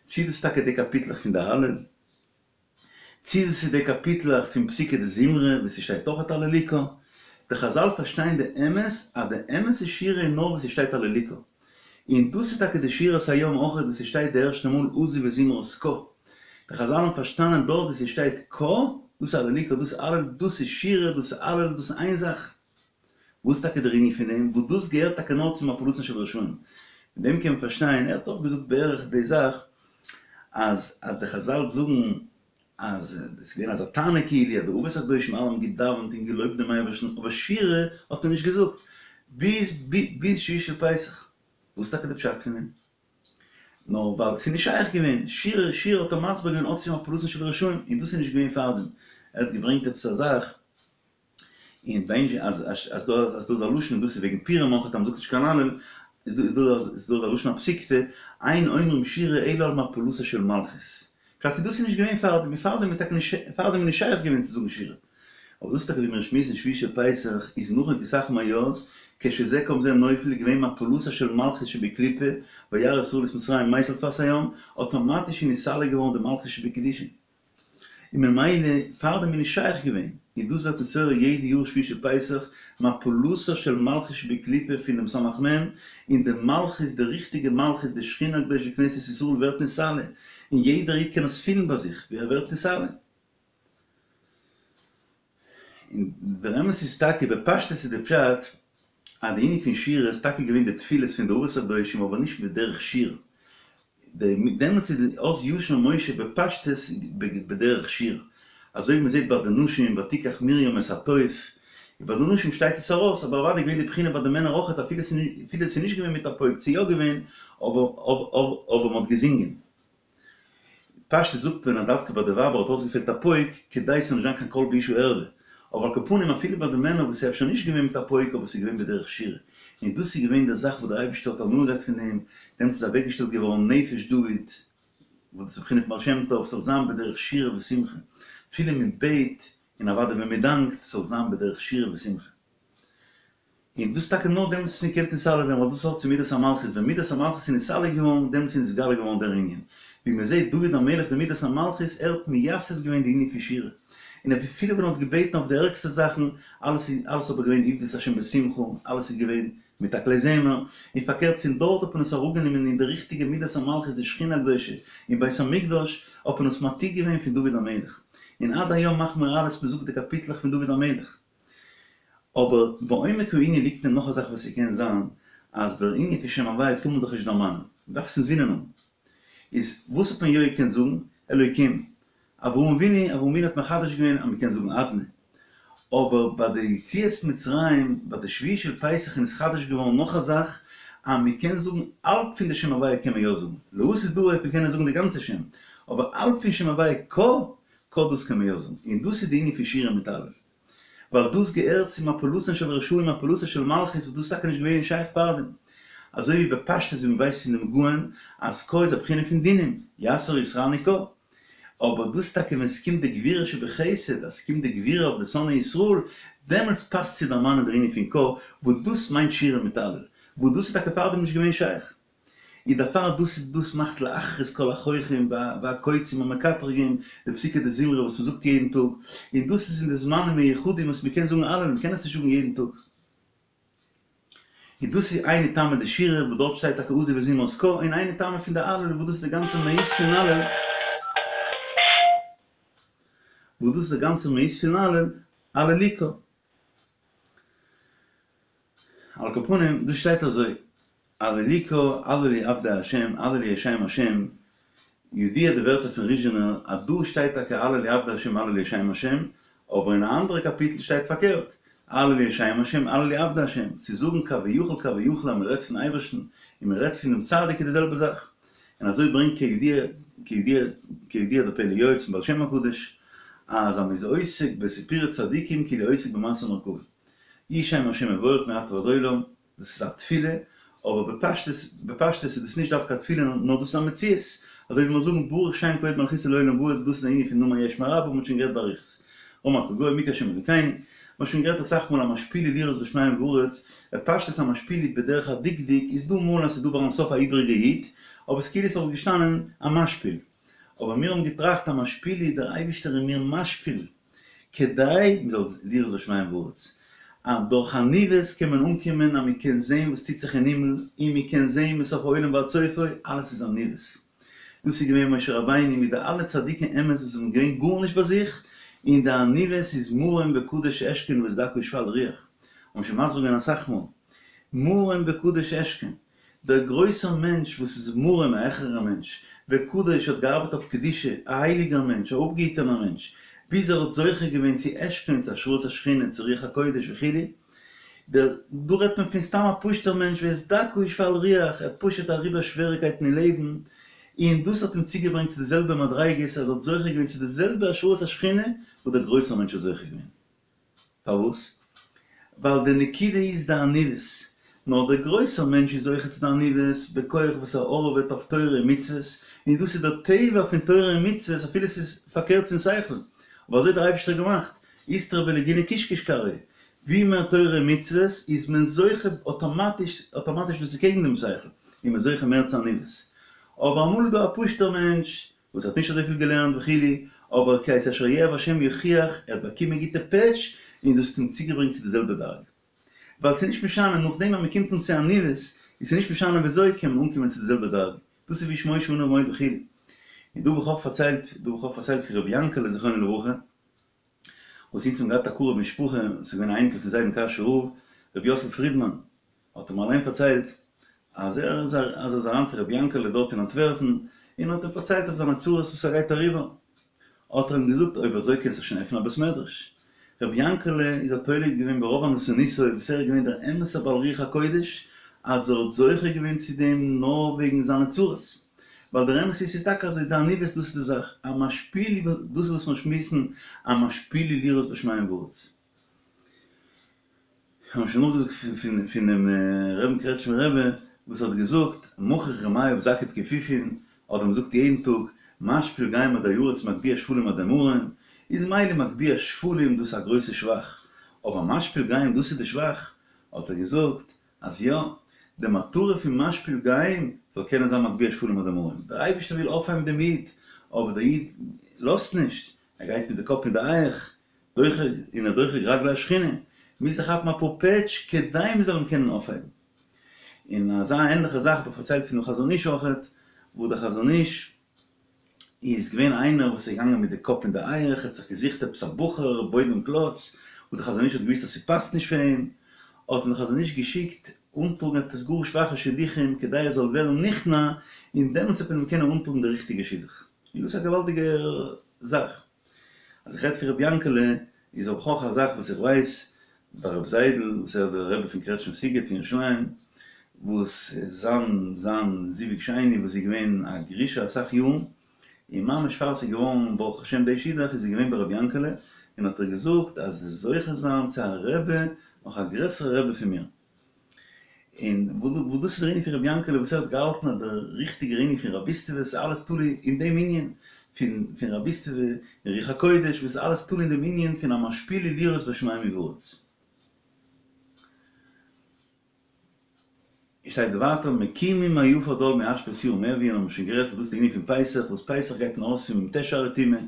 צי דאס איז טאקע די קאפיטלעך פון די הלל, צי דאס איז די קאפיטלעך פון פסוקי דזמרה וואו ס'שטייט אויכעט הללוקה. די חזל פארשטייען די אמת אז די אמת'ע שירה איז נאר וואו ס'שטייט הללוקה. און דאס איז טאקע די שירת הים אויכעט וואו ס'שטייט די ערשטע מאל עזי וזמרת קה. די חזל האבן פארשטאנען דארט וואו ס'שטייט קה, דאס איז הללוקה, דאס איז הלל, דאס איז שירה, דאס איז הלל, דאס איז איין זאך. וואס איז טאקע דער ענין פון דעם? וואס דאס געהערט טאקע נאר צו מפלתן של רשעים. מיט דעם קען מען פארשטיין, ער האט אויך געזאגט בערך די זאך, אז אז די חזל זאגן אז עס איז געווען אזא טענה כאילו אז די אבות הקדושים אלע האבן געדאווענט און געלויבט דעם אייבערשטן אבער שירה האט מען נישט געזאגט ביז ביז שביעי של פסח. וואס איז טאקע די פשט פון דעם? נאר ווייל עס איז נישט שייך געווען, שירה שירה האט ער מסביר געווען האט צו מפלתן של רשעים און דאס איז נישט געווען פארדעם, ער האט געברענגט עפעס א זאך און ביי אונז אז אז דא אז דא איז א לשון דאס איז וועגן פורים אויך אז מ'זאגט נישט קיין הלל איז דא איז דא איז דא א לשון הפסיקתא אין אומרים שירה אלא על מפלתה של מלכות פשט איז דאס איז נישט געווען פאר דעם און פאר דעם איז טאקע נישט פאר דעם איז נישט שייך געווען צו זאגן שירה אבער דאס איז טאקע ווי מיר שמועסן שביעי של פסח איז נאכן כי סך מאז כשזה קם זה נופל איז געווען מפלתה של מלכות שבקליפה וירא ישראל את מצרים מת על שפת הים אטאמאטיש איז נתעלה געווארן די מלכות שבקדושה. און ממילא פארדעם איז נישט שייך געווען, און דאס ווערט נתעורר יעדע יאר שביעי של פסח, מפלתה של מלכות שבקליפה פונעם סמך מם, און די מלכות, די ריכטיגע מלכות, די שכינה הקדושה כנסת ישראל ווערט נתעלה, און יעדער איד קען עס פילן ביי זיך ווי ער ווערט נתעלה. און דער אמת איז טאקע, בפשטות איז די פשט, אז די ענין פון שירה איז טאקע געווען די תפילות פון די אבות הקדושים אבער נישט בדרך שיר, דעמאלטס איז די אז ישיר משה בפשטות בדרך שיר, אזוי ווי מ'זעט ביי די נשים ותיקח מרים את התוף, און ביי די נשים שטייט עס ארויס, אבער אוודאי געווען די בחינה ביי די מענער אויכעט אפילו ס'איז נישט געווען מיט א פויק צו יא געווען אבער אבער מ'האט געזינגען. פשטות זאגט מען אז דווקא ביי די ווייבער האט אויסגעפעלט א פויק כדי ס'זאל נישט זיין קיין קול באשה ערווה, אבער על כל פנים אפילו ביי די מענער וואס איז אפשר נישט געווען מיט א פויק אבער ס'איז געווען בדרך שירה, און דאס איז געווען די זאך וואס דער אייבערשטער האט הנאה געהאט פון דעם, דעמאלטס איז אוועקגעשטעלט געווארן נפש דוד, וואס דאס איז בחינת בעל שם טוב, ס'זאל זיין בדרך שירה ושמחה, אפילו מען בעט, און אוודאי ווען מען דאנקט, ס'זאל זיין בדרך שירה ושמחה. און דאס טאקע נאר דעמאלטס איז געקענט נתעלה ווערן ווייל דאס האט צו מידת המלכות, ווען מידת המלכות איז נתעלה געווארן דעמאלטס איז נתגלה געווארן דער ענין, ווי מען זעט דוד המלך די מידת המלכות ער האט מייסד געווען די ענין פון שירה, און אפילו ווען ער האט געבעטן אויף די ערגסטע זאכן, אלעס איז אלעס אבער געווען עבדו את השם בשמחה, אלעס איז געווען מיט א כלי זמר, און פארקערט פון דארט האט מען עס אראפגענומען אין די ריכטיגע מידת המלכות די שכינה הקדושה אין בית המקדש האט מען עס מעתיק געווען פון דוד המלך, און עד היום מאכן מיר אלעס מען זאגט די קאפיטלעך פון דוד המלך. אבער בעומק הענין ליגט אין נאך א זאך וואס ס'קען זיין אז דער ענין פון שם הוויה טאר מען דאך נישט דערמאנען, מ'דארף עס אינזינען האבן. איז וואס האט מען יא געקענט זאגן? אלוקים. אברהם אבינו, אברהם אבינו האט מחדש געווען אז מ'קען זאגן אדני. אבער ביי די יציאת מצרים, ביי די שביעי של פסח איז נתחדש געווארן נאך א זאך, אז מ'קען זאגן האלב פון די שם הוויה קען מען יא זאגן. לעתיד לבוא וועט מען קענען זאגן די גאנצע שם. אבער האלב פון שם הוויה קה, קה דאס קען מען יא זאגן. און דאס איז די ענין פון שירה מיט הלל. ווייל דאס געהערט צו מפלתן של רשעים מפלתה של מלכות וואס דאס איז טאקע נישט געווען שייך פארדעם. אזוי ווי בפשטות ווי מ'ווייסט פון דעם גאון אז קה איז א בחינה פון דינים, יתר יתרני קה. אבער דאס טאקע ווען ס'קומט די גבורה שבחסד, אז ס'קומט די גבורה אויף די שונאי ישראל, דעמאלטס פאסט צו דערמאנען דער ענין פון קה, וואס דאס מיינט שירה מיט הלל, וואס דאס איז טאקע פארדעם נישט געווען שייך. און דערפאר דאס איז דאס מאכט להכרית כל החוחים והקוצים המקטרגים, די פסוקי דזמרה וואס מ'זאגט יעדן טאג, און דאס איז אין די זמנים מיוחדים וואס מ'קען זאגן הלל, מ'קען עס נישט זאגן יעדן טאג. און דאס איז היינו טעמא דשירה וואס דארט שטייט טאקע עזי וזמרת קה, און היינו טעמא פון די הלל וואס דאס איז די גאנצע מהות פון הלל, וואס דאס איז די גאנצע מהות פון הלל, הללוקה. על כל פנים, דא שטייט אזוי. הללוקה, הללו עבדי השם, הללו את שם השם, ידוע די ווערטער פון ריזשינער אז דא שטייט טאקע הללו עבדי השם הללו את שם השם, אבער אין א אנדערע קאפיטל שטייט פארקערט, הללו את שם השם הללו עבדי השם, צו זאגן כביכול כביכול אז מען רעדט פון אייבערשטן און מען רעדט פונעם צדיק איז די זעלבע זאך, און אזוי ברענגט כידוע כידוע כידוע די פלא יועץ פון בעל שם הקדוש אז אז מען איז עוסק בסיפורי צדיקים כאילו עוסק במעשה מרכבה, יהי שם השם מבורך מעתה ועד עולם. דאס איז א תפילה, אבער בפשטות, בפשטות איז דאס נישט דווקא א תפילה, נאר דאס איז א מציאות, אזוי ווי מיר זאגן ברוך שם כבוד מלכותו לעולם ועד, דאס איז די ענין פון נאמר יהא שמיה רבא, מ'האט שוין גערעדט באריכות. רם על כל גוים מי כהשם אלוקינו, מ'האט שוין גערעדט אסאך מאל המשפיל לראות בשמים ובארץ, בפשטות המשפיל בדרך הדקדוק איז דא מאל אז ס'איז דא ביים סוף א איבעריגע יוד, אבער ס'כאילו ס'וואלט געשטאנען המשפיל. אבער מיר האבן געטראכט המשפיל דער אייבישטער איז מיר משפיל. כדי מען זאל לראות בשמים ובארץ, אז דורך עניוות קען מען אנקומען אז מען קען זען וואס טוט זיך אין הימל, און מען קען זען מסוף העולם ועד סופו, אלעס איז עניוות. דאס איז געווען משה רבינו מיט די אלע צדיקי אמת וואס האבן געווען גארנישט ביי זיך, און די עניוות איז מרום וקדוש אשכון ואת דכא ושפל רוח, האבן שוין מסביר געווען אסאך מאל, מרום וקדוש אשכון, דער גרויסער מענטש וואס איז מרום א העכערער מענטש, וקדוש האט געארבעט אויף קדושה, א הייליגער מענטש, א אפגעהיטענער מענטש, ביז ער האט זוכה געווען צו אשכון, צו השראת השכינה, צו רוח הקודש וכו', דער, דא רעדט מען פון סתם א פשוט'ער מענטש ואת דכא ושפל רוח, ער האט פשוט אריבער שוועריקייטן אין לעבן, און דאס האט אים צוגעברענגט צו די זעלבע מדריגות, אז ער האט זוכה געווען צו די זעלבע השראת השכינה וואס דער גרויסער מענטש האט זוכה געווען. פארוואס? ווייל די נקודה איז די עניוות. נאר דער גרויסער מענטש איז זוכה צו די עניוות בכח וואס ער הארעוועט אויף תורה און מצוות, און דאס איז דער טבע פון תורה און מצוות אפילו ס'איז פארקערט פון שכל, אבער אזוי האט דער אייבערשטער געמאכט, איסתרא בלגינא קיש קיש כרעיה, ווי מער תורה און מצוות איז מען זוכה אטאמאטיש, אטאמאטיש וואס איז קעגן דעם שכל, איז מען זוכה מער צו עניוות. אבער אמאל איז דא א פשוט'ער מענטש וואס האט נישט אזויפיל געלערנט וכו', אבער כי את אשר יאהב השם יוכיח, ער האט באקומען גוטע פעטש, און דאס האט אים צוגעברענגט צו די זעלבע דרגה. ווייל ס'איז נישט משנה, נאכדעם אז מ'קומט אן צו עניוות, איז ס'נישט משנה וויאזוי קען מען אנקומען צו די זעלבע דרגה. דאס איז והאיש משה עניו מאוד וכו'. און דא האב איך אויך פארציילט, דא האב איך אויך פארציילט פון רבי יענקעלע זכרונו לברכה, וואס אונז האבן געהאט א קרוב משפחה, וואס איז געווען א אייניקל פון זיידן קאשויער רב, רבי יוסל פרידמאן, האט ער מיר אליין פארציילט אז ער איז אז ער איז אריין צו רבי יענקעלע דארט אין אנטווערפן און האט אים פארציילט אויף זיינע צרות וואס ער גייט אריבער, האט ער אים געזאגט אויב אזוי קענסטו שוין עפענען א בית מדרש. רבי יענקעלע איז א תולה געווען ברוב ענוותנותו וואס ער איז געווען דער אמת'ער בעל רוח הקודש אז ער האט זוכה געווען צו דעם נאר וועגן זיינע צרות, ווייל דער אמת איז ס'איז טאקע אזוי די עניוות דאס איז די זאך, המשפיל דאס איז וואס מיר שמועסן המשפיל לראות בשמים ובארץ. כ'האב שוין נאכגעזאגט פון פונעם רבין קרעטשמער רבי וואס האט געזאגט מכיך רמיא זקיף כפיפין האט ער געזאגט יעדן טאג משפיל גאים עדי ארץ מגביה שפלים עדי מרום איז מילא מגביה שפלים דאס איז א גרויסע שבח אבער משפיל גאים דאס איז די שבח האט ער געזאגט אז יא די מטרה פון משפיל גאים זאל קענען זיין מגביה שפלים עדי מרום דער אייבערשטער וויל אויפהייבן דעם איד אבער דער איד לאזט נישט ער גייט מיט די קאפ אין די הייך דוחק און ער דוחק רגלי השכינה, מוז ער כאפן אפאר פעטש כדי מען זאל אים קענען אויפהייבן. און אזא ענליכע זאך האב איך פארציילט פונעם חזון איש אויכעט, וואו דער חזון איש איז געווען איינער וואס איז געגאנגען מיט די קאפ אין די הייך, ער האט זיך געזוכט עפעס א בחור בוידעם קלאץ, וואס דער חזון איש האט געוואוסט אז ס'פאסט נישט פאר אים, האט אים דער חזון איש געשיקט אנטראגן עפעס גאר שוואכע שידוכים כדי ער זאל ווערן נכנע, און דעמאלטס וועט מען אים קענען אנטראגן די ריכטיגע שידוך. און דאס איז א געוואלדיגע זאך. אז איך רעד פון רבי יענקעלע איז אויך אויך א זאך וואס איך ווייס ביי רבי זיידל וואס ער איז דער רבי פון קרעטשניף סיגעט אין ירושלים וואס זיין זיין זיווג שני וואס איז געווען א גרושה אסאך יארן און ממש פאר ס'איז געווארן ברוך השם די שידוך איז זי געווען ביי רבי יענקעלע און האט ער געזאגט אז זי זוכה זיין צו א רבי נאך א גרעסערע רבי פון מיר. און וואס דאס איז דער ענין פון רבי יענקעלע וואס ער האט געהאלטן אז דער ריכטיגער ענין פון רביסטעווע איז אלעס תלוי אין דעם ענין פון פון רביסטעווע און רוח הקודש וואס איז אלעס תלוי אין דעם ענין פון המשפיל לראות בשמים ובארץ. און שטייט ווייטער מקימים מעפר דל מאשפות ירים אביון האבן מיר שוין גערעדט וואס דאס איז די ענין פון פסח וואס פסח גייט מען ארויס פון מ"ט שערי טומאה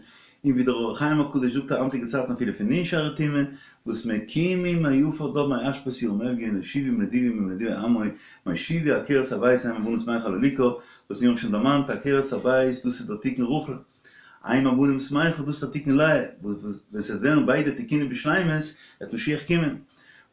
און ווי דער אור החיים הקדוש זאגט היינטיגע צייטן אפילו פון נ' שערי טומאה, וואס מקימים מעפר דל מאשפות ירים אביון להושיבם נדיבים עם נדיבי עמו, מושיבי עקרת הבית אם הבנים שמחה הללוקה, וואס מיר האבן שוין דערמאנט עקרת הבית דאס איז דער תיקון רחל, אם הבנים שמחה דאס איז דער תיקון לאה, וואס ווען ס'וועט ווערן ביידע תיקונים בשלימות וועט משיח קומען.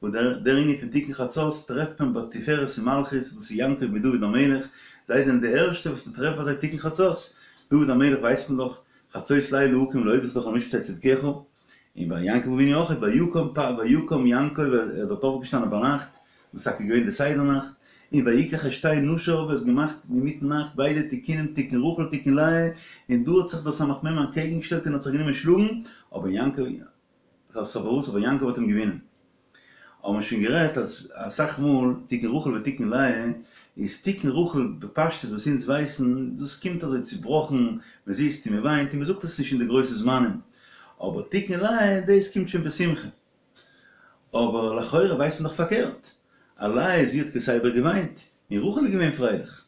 וואס דער דער ענין פון תיקון חצות טרעפט מען ביי תפארת און מלכות, דאס איז יעקב מיט דוד המלך, זיי זענען די ערשטע וואס מען טרעפט ביי זיי תיקון חצות, דוד המלך ווייסט מען דאך, חצות לילה אקום להודות לך על משפטי צדקך, און ביי יעקב אבינו אויך, ויקם פ ויקם יעקב ער איז דארט אויפגעשטאנען ביינאכט, דאס איז טאקע געווען די סדר נאכט, און ויקח את שתי נשיו ער האט געמאכט אינמיטן נאכט ביידע תיקונים תיקון רחל תיקון לאה, און דא האט זיך דער סמך מם אנטקעגן געשטעלט און האט זיך גענומען שלאגן, אבער יעקב פארוואס אבער יעקב האט אים געווינען. האבן מיר שוין גערעדט אז אסאך מאל תיקון רחל ותיקון לאה איז תיקון רחל בפשטות וואס אונז ווייסן דאס קומט אזוי צובראכן מען זיצט און מען וויינט און מען זאגט עס נישט אין די גרויסע זמנים אבער תיקון לאה דאס קומט שוין בשמחה אבער לכאורה ווייסט מען דאך פארקערט אז לאה זי האט כסדר געוויינט און רחל איז געווען פרייליך.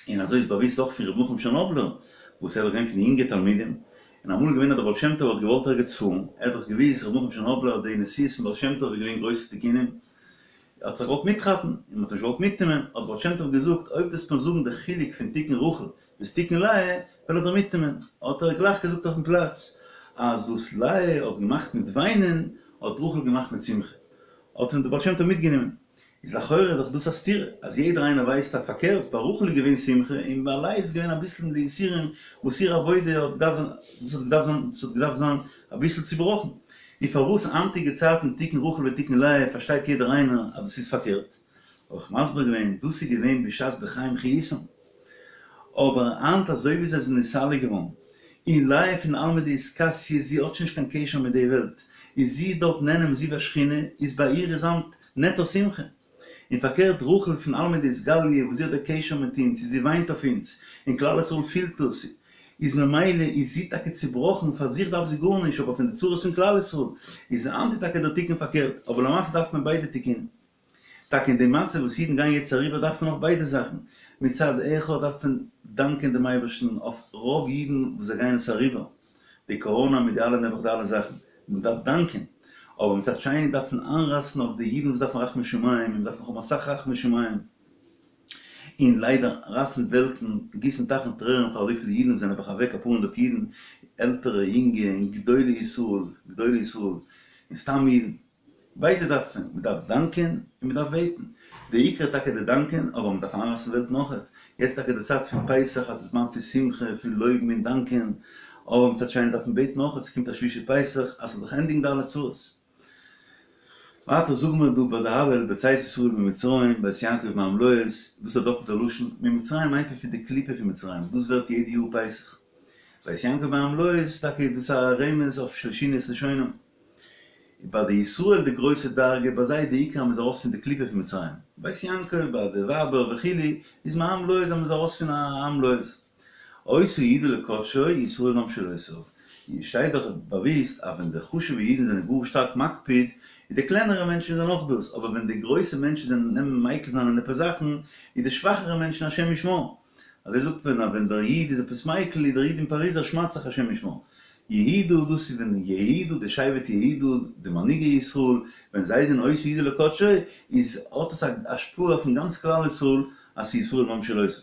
און אזוי איז באוויסט אויך פון ר' נחום טשערנאבלער, וואס ער איז געווען פון די יונגע תלמידים, און אמאל איז געווען אז דער בעל שם טוב האט געוואלט ערגעץ פארן, ער האט דאך געוויסט ר' נחום טשערנאבלער אז די נסיעות פון בעל שם טוב איז געווען גרויסע תיקונים, ער האט זיך געוואלט מיטכאפן, און מען האט אים נישט געוואלט מיטנעמען, האט דער בעל שם טוב געזאגט, אויב דו וועסט מיר זאגן די חילוק פון תיקון רחל ביז תיקון לאה, וועל איך דיר מיטנעמען, האט ער גלייך געזאגט אויפן פלאץ, אז וואס לאה האט געמאכט מיט וויינען, האט רחל געמאכט מיט שמחה, האט אים דער בעל שם טוב מיטגענומען. איז לכאורה איז דאך דאס א סתירה, אז יעדער איינער ווייסט אז פארקערט, ביי רחל איז געווען שמחה און ביי לאה איז געווען אביסל די יסורים וואס איר עבודה האט געדארפט זיין, דאס האט געדארפט זיין, דאס האט געדארפט זיין אביסל צובראכן. און פארוואס היינטיגע צייטן תיקון רחל ותיקון לאה פארשטייט יעדער איינער אז דאס איז פארקערט? האב איך מסביר געווען, דאס איז געווען בשעת בחיים חיותם. אבער היינט אזוי ווי זיי זענען נסתלק געווארן, און לאה פון עלמא דאתכסיא זי האט שוין נישט קיין קשר מיט די וועלט, איז זי דארט נהנה מזיו השכינה, איז ביי איר איז היינט נעטא שמחה. און פארקערט רחל פון עלמא דאתגליא וואס זי האט די קשר מיט אונז און זי וויינט אויף אונז, און כלל ישראל פילט דאס, איז ממילא איז זי טאקע צובראכן, פאר זיך דארף זי גארנישט, אבער פון די צרות פון כלל ישראל, איז היינט איז טאקע דער תיקון פארקערט, אבער למעשה דארף מען ביידע תיקונים. טאקע אין די מצב וואס אידן גייען יעצט אריבער דארף מען אויך ביידע זאכן, מצד אחד דארף מען דאנקען דעם אייבערשטן אויף רוב אידן וואס זיי גייען עס אריבער, די קאראנא מיט די אלע נעבעך די אלע זאכן, מען דארף דאנקען, אבער מצד שני דארף מען איינרייסן אויף די אידן וואס דארפן רחמי שמים, און מען דארף נאך האבן אסאך רחמי שמים, און ליידער רייסן וועלטן, גיסן טייכן טרערן פאר אזויפיל אידן וואס זענען נעבעך אוועק אפאר הונדערט אידן, עלטערע, יונגע, און גדולי ישראל, גדולי ישראל, און סתם אידן. ביידע דארף מען, מען דארף דאנקען און מען דארף בעטן, די עיקר איז טאקע די דאנקען, אבער מען דארף איינרייסן וועלטן אויכעט, יעצט טאקע די צייט פון פסח אז ס'איז זמן פון שמחה, פון לויבן און דאנקען, אבער מצד שני דארף מען בעטן אויכעט, ס'קומט א שביעי של פסח אז ס'זאל זיך ענדיגן די אלע צרות. ווייטער זאגן מיר דא ביי די הלל בצאת ישראל ממצרים בית יעקב מעם לועז, דאס איז א דאפלטע לשון, ממצרים מיינט מען פון די קליפה פון מצרים, דאס ווערט יעדע יאר פסח, בית יעקב מעם לועז טאקע איז דאס א רמז אויף שלשינו את לשונם. ביי די ישראל די גרויסע דרגה, ביי זיי די עיקר אז מ'איז ארויס פון די קליפה פון מצרים, בית יעקב ביי די ווייבער וכו' איז מעם לועז אז מ'איז ארויס פון א עם לועז. היתה יהודה לקדשו ישראל ממשלותיו, שטייט דאך באוויסט אז ווען די חשובע אידן זענען גאר שטארק מקפיד, איז די קלענערע מענטשן זענען אויך דאס, אבער ווען די גרויסע מענטשן זענען נעמען מיקל זיין אין עפעס זאכן, איז די שוואכערע מענטשן השם ישמור. אזוי זאגט מען אז ווען דער איד איז עפעס מיקל איז דער איד אין פאריז ער שמד'ט זיך השם ישמור. יהודה דאס איז ווען יהודה די שבט יהודה די מנהיגי ישראל ווען זיי זענען היתה יהודה לקדשו איז האט עס א השפעה אויפן גאנץ כלל ישראל אז ס'איז ישראל ממשלותיו.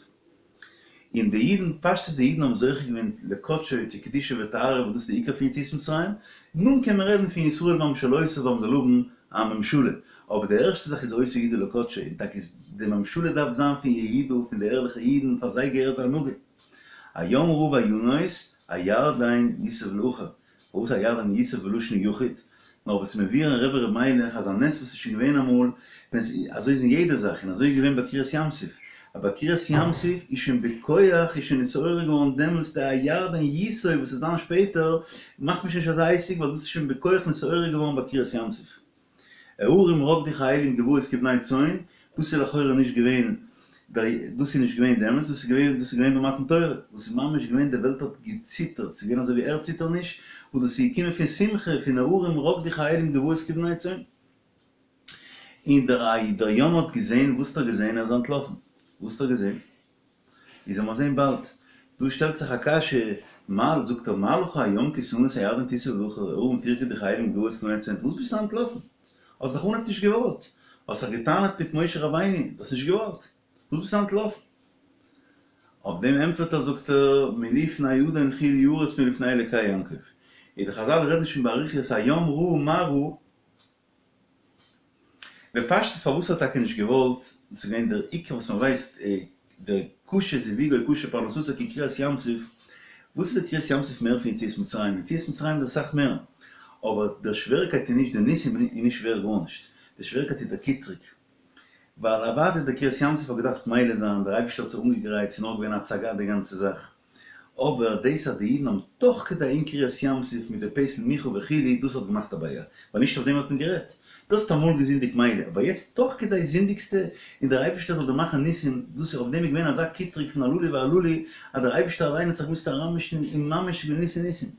און די אידן פשטות די אידן האבן זוכה געווען לקדשו צו קדושה וטהרה וואס דאס איז די עיקר פון יציאת מצרים, נאכדעם קען מען רעדן פון ישראל ממשלותיו אז מ'זאל האבן א ממשלה, אבער די ערשטע זאך איז היתה יהודה לקדשו, און טאקע איז די ממשלה דארף זיין פון יהודה, פון די ערליכע אידן, פאר זיי געהערט די הנהגה. הים ראה וינוס, הירדן יסוב לאחור. פארוואס הירדן יסוב בלשון יחיד? נאר וואס איז מבואר אין רבי ר' מיילעך אז א נס וואס איז שוין געווען אמאל, ווען ס'איז אזוי איז אין יעדע זאך, און אזוי איז געווען ביי קריעת ים סוף, אז ביי קריעת ים סוף איז שוין בכח איז שוין נתעורר געווארן דעמאלטס די הירדן יסוב וואס וועט זיין שפעטער, מאכט מען שוין נישט אזא עסק ווייל דאס איז שוין בכח נתעורר געווארן ביי קריעת ים סוף. ההרים רקדו כאילים גבעות כבני צאן, דאס איז לכאורה נישט געווען דאס איז נישט געווען דעמאלטס, דאס איז געווען דאס איז געווען ביי מתן תורה, וואס איז ממש געווען די וועלט האט געציטערט, ס'איז געווען אזוי ווי ערד ציטערניש, וואס דאס איז געקומען פון שמחה, פון ההרים רקדו כאילים גבעות כבני צאן. און דער דער ים האט געזען, וואס האט ער געזען? ער איז אנטלאפן. וואס האט ער געזען? איז לאמיר זען באלד. דא שטעלט זיך א קשיא, מה, זאגט ער, מה לך הים כי תנוס הירדן תסוב לאחור, ההרים תרקדו כאילים גבעות כבני צאן, וואס ביסטו אנטלאפן? האסט דאך אנהייב נישט געוואלט, האסט זיך געטענה'ט מיט משה רבינו, דו האסט נישט געוואלט, וואס ביסטו אנטלאפן? אויף דעם ענטפערט ער, זאגט ער, מלפני אדון חיל ירוץ מלפני אלקי יעקב. איז די חזל רעדן שוין באריכות הים ראה מה ראה. בפשטות פארוואס האט טאקע נישט געוואלט, דאס איז געווען דער עיקר וואס מען ווייסט דער קשה זיווגו קשה פרנסתו כקריעת ים סוף, וואס איז דער קריעת ים סוף מער פון יציאת מצרים? יציאת מצרים איז אסאך מער, אבער דער שווערקייט איז נישט די ניסים איז נישט שווער גארנישט, די שווערקייט איז דער קיטרוג, ווייל אוודאי דער קריעת ים סוף האט געדארפט מילא זיין, דער אייבערשטער האט זיך אנגעגרייט, ס'איז נאר געווען א הצגה די גאנצע זאך, אבער דאס אז די אידן האבן תוך כדי אין קריעת ים סוף מיט די פסל מיכה וכו' דאס האט געמאכט א בעיה, ווייל נישט אויף דעם האט מען גערעדט, דו האסט אמאל געזינדיגט מילא, אבער יעצט תוך כדי זינדיגסטו און דער אייבערשטער זאל דיר מאכן ניסים, דאס איז אויף דעם איז געווען אזא קיטרוג פון הללו והללו אז דער אייבערשטער אליין האט זיך געמוזט אריינמישן און ממש געווען ניסי ניסים.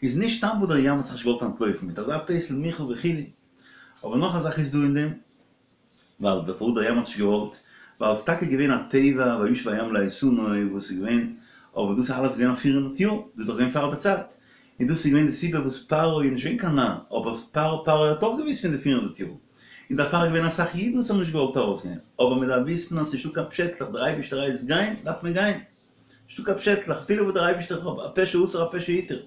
איז נישט סתם וואס דער ים האט זיך נישט געוואלט אנטלויפן מיט אזא פסל מיכה וכו', אבער נאך א זאך איז דא אין דעם, ווייל דער פארוואס דער ים האט נישט געוואלט, ווייל ס'איז טאקע געווען א טבע וישב הים לאיתנו וואס איז געווען, אבער דאס איז אלעס געווען אויף 400 יאר, דאס איז דאך געווען פאר די צייט, און דאס איז געווען די סיבה וואס פרעה איז נישט געווען קיין נאר, אבער פרעה פרעה האט אויך געוואוסט פון די 400 יאר, און דערפאר איז געווען אסאך אידן וואס האבן נישט געוואלט ארויסגיין, אבער מען דארף וויסן אז ס'נישט דא קיין פשעטלעך, דער אייבערשטער הייסט גיין, דארף מען גיין. נישטא קיין פשעטלעך, אפילו וואס דער אייבערשטער האט הפה שאסר הפה שהתיר.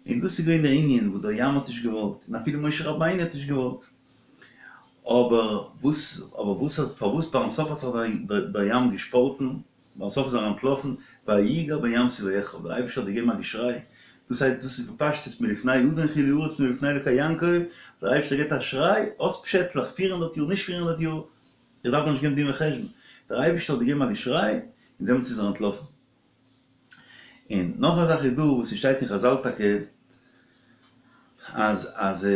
און דאס איז געווען דער ענין וואס דער ים האט נישט געוואלט, און אפילו משה רבינו האט נישט געוואלט. אבער וואס, אבער וואס האט, פארוואס ביים סוף האט זיך דער ים געשפאלטן, ביים סוף איז ער אנטלאפן, ויגר בים סוף ויחרב, דער אייבערשטער האט געגעבן א געשריי, דאס הייסט דאס איז בפשטות מלפני אדון חילי ארץ מלפני אלוקי יעקב, דער אייבערשטער געבט א שריי, אויס פשעטלעך, 400 יאר, נישט 400 יאר, איך דארף דיר נישט געבן דין וחשבון. דער אייבערשטער האט געגעבן א געשריי, און דעמאלטס איז ער אנטלאפן. און נאך א זאך איז דא וואס ס'שטייט אין חזל טאקע, אז אז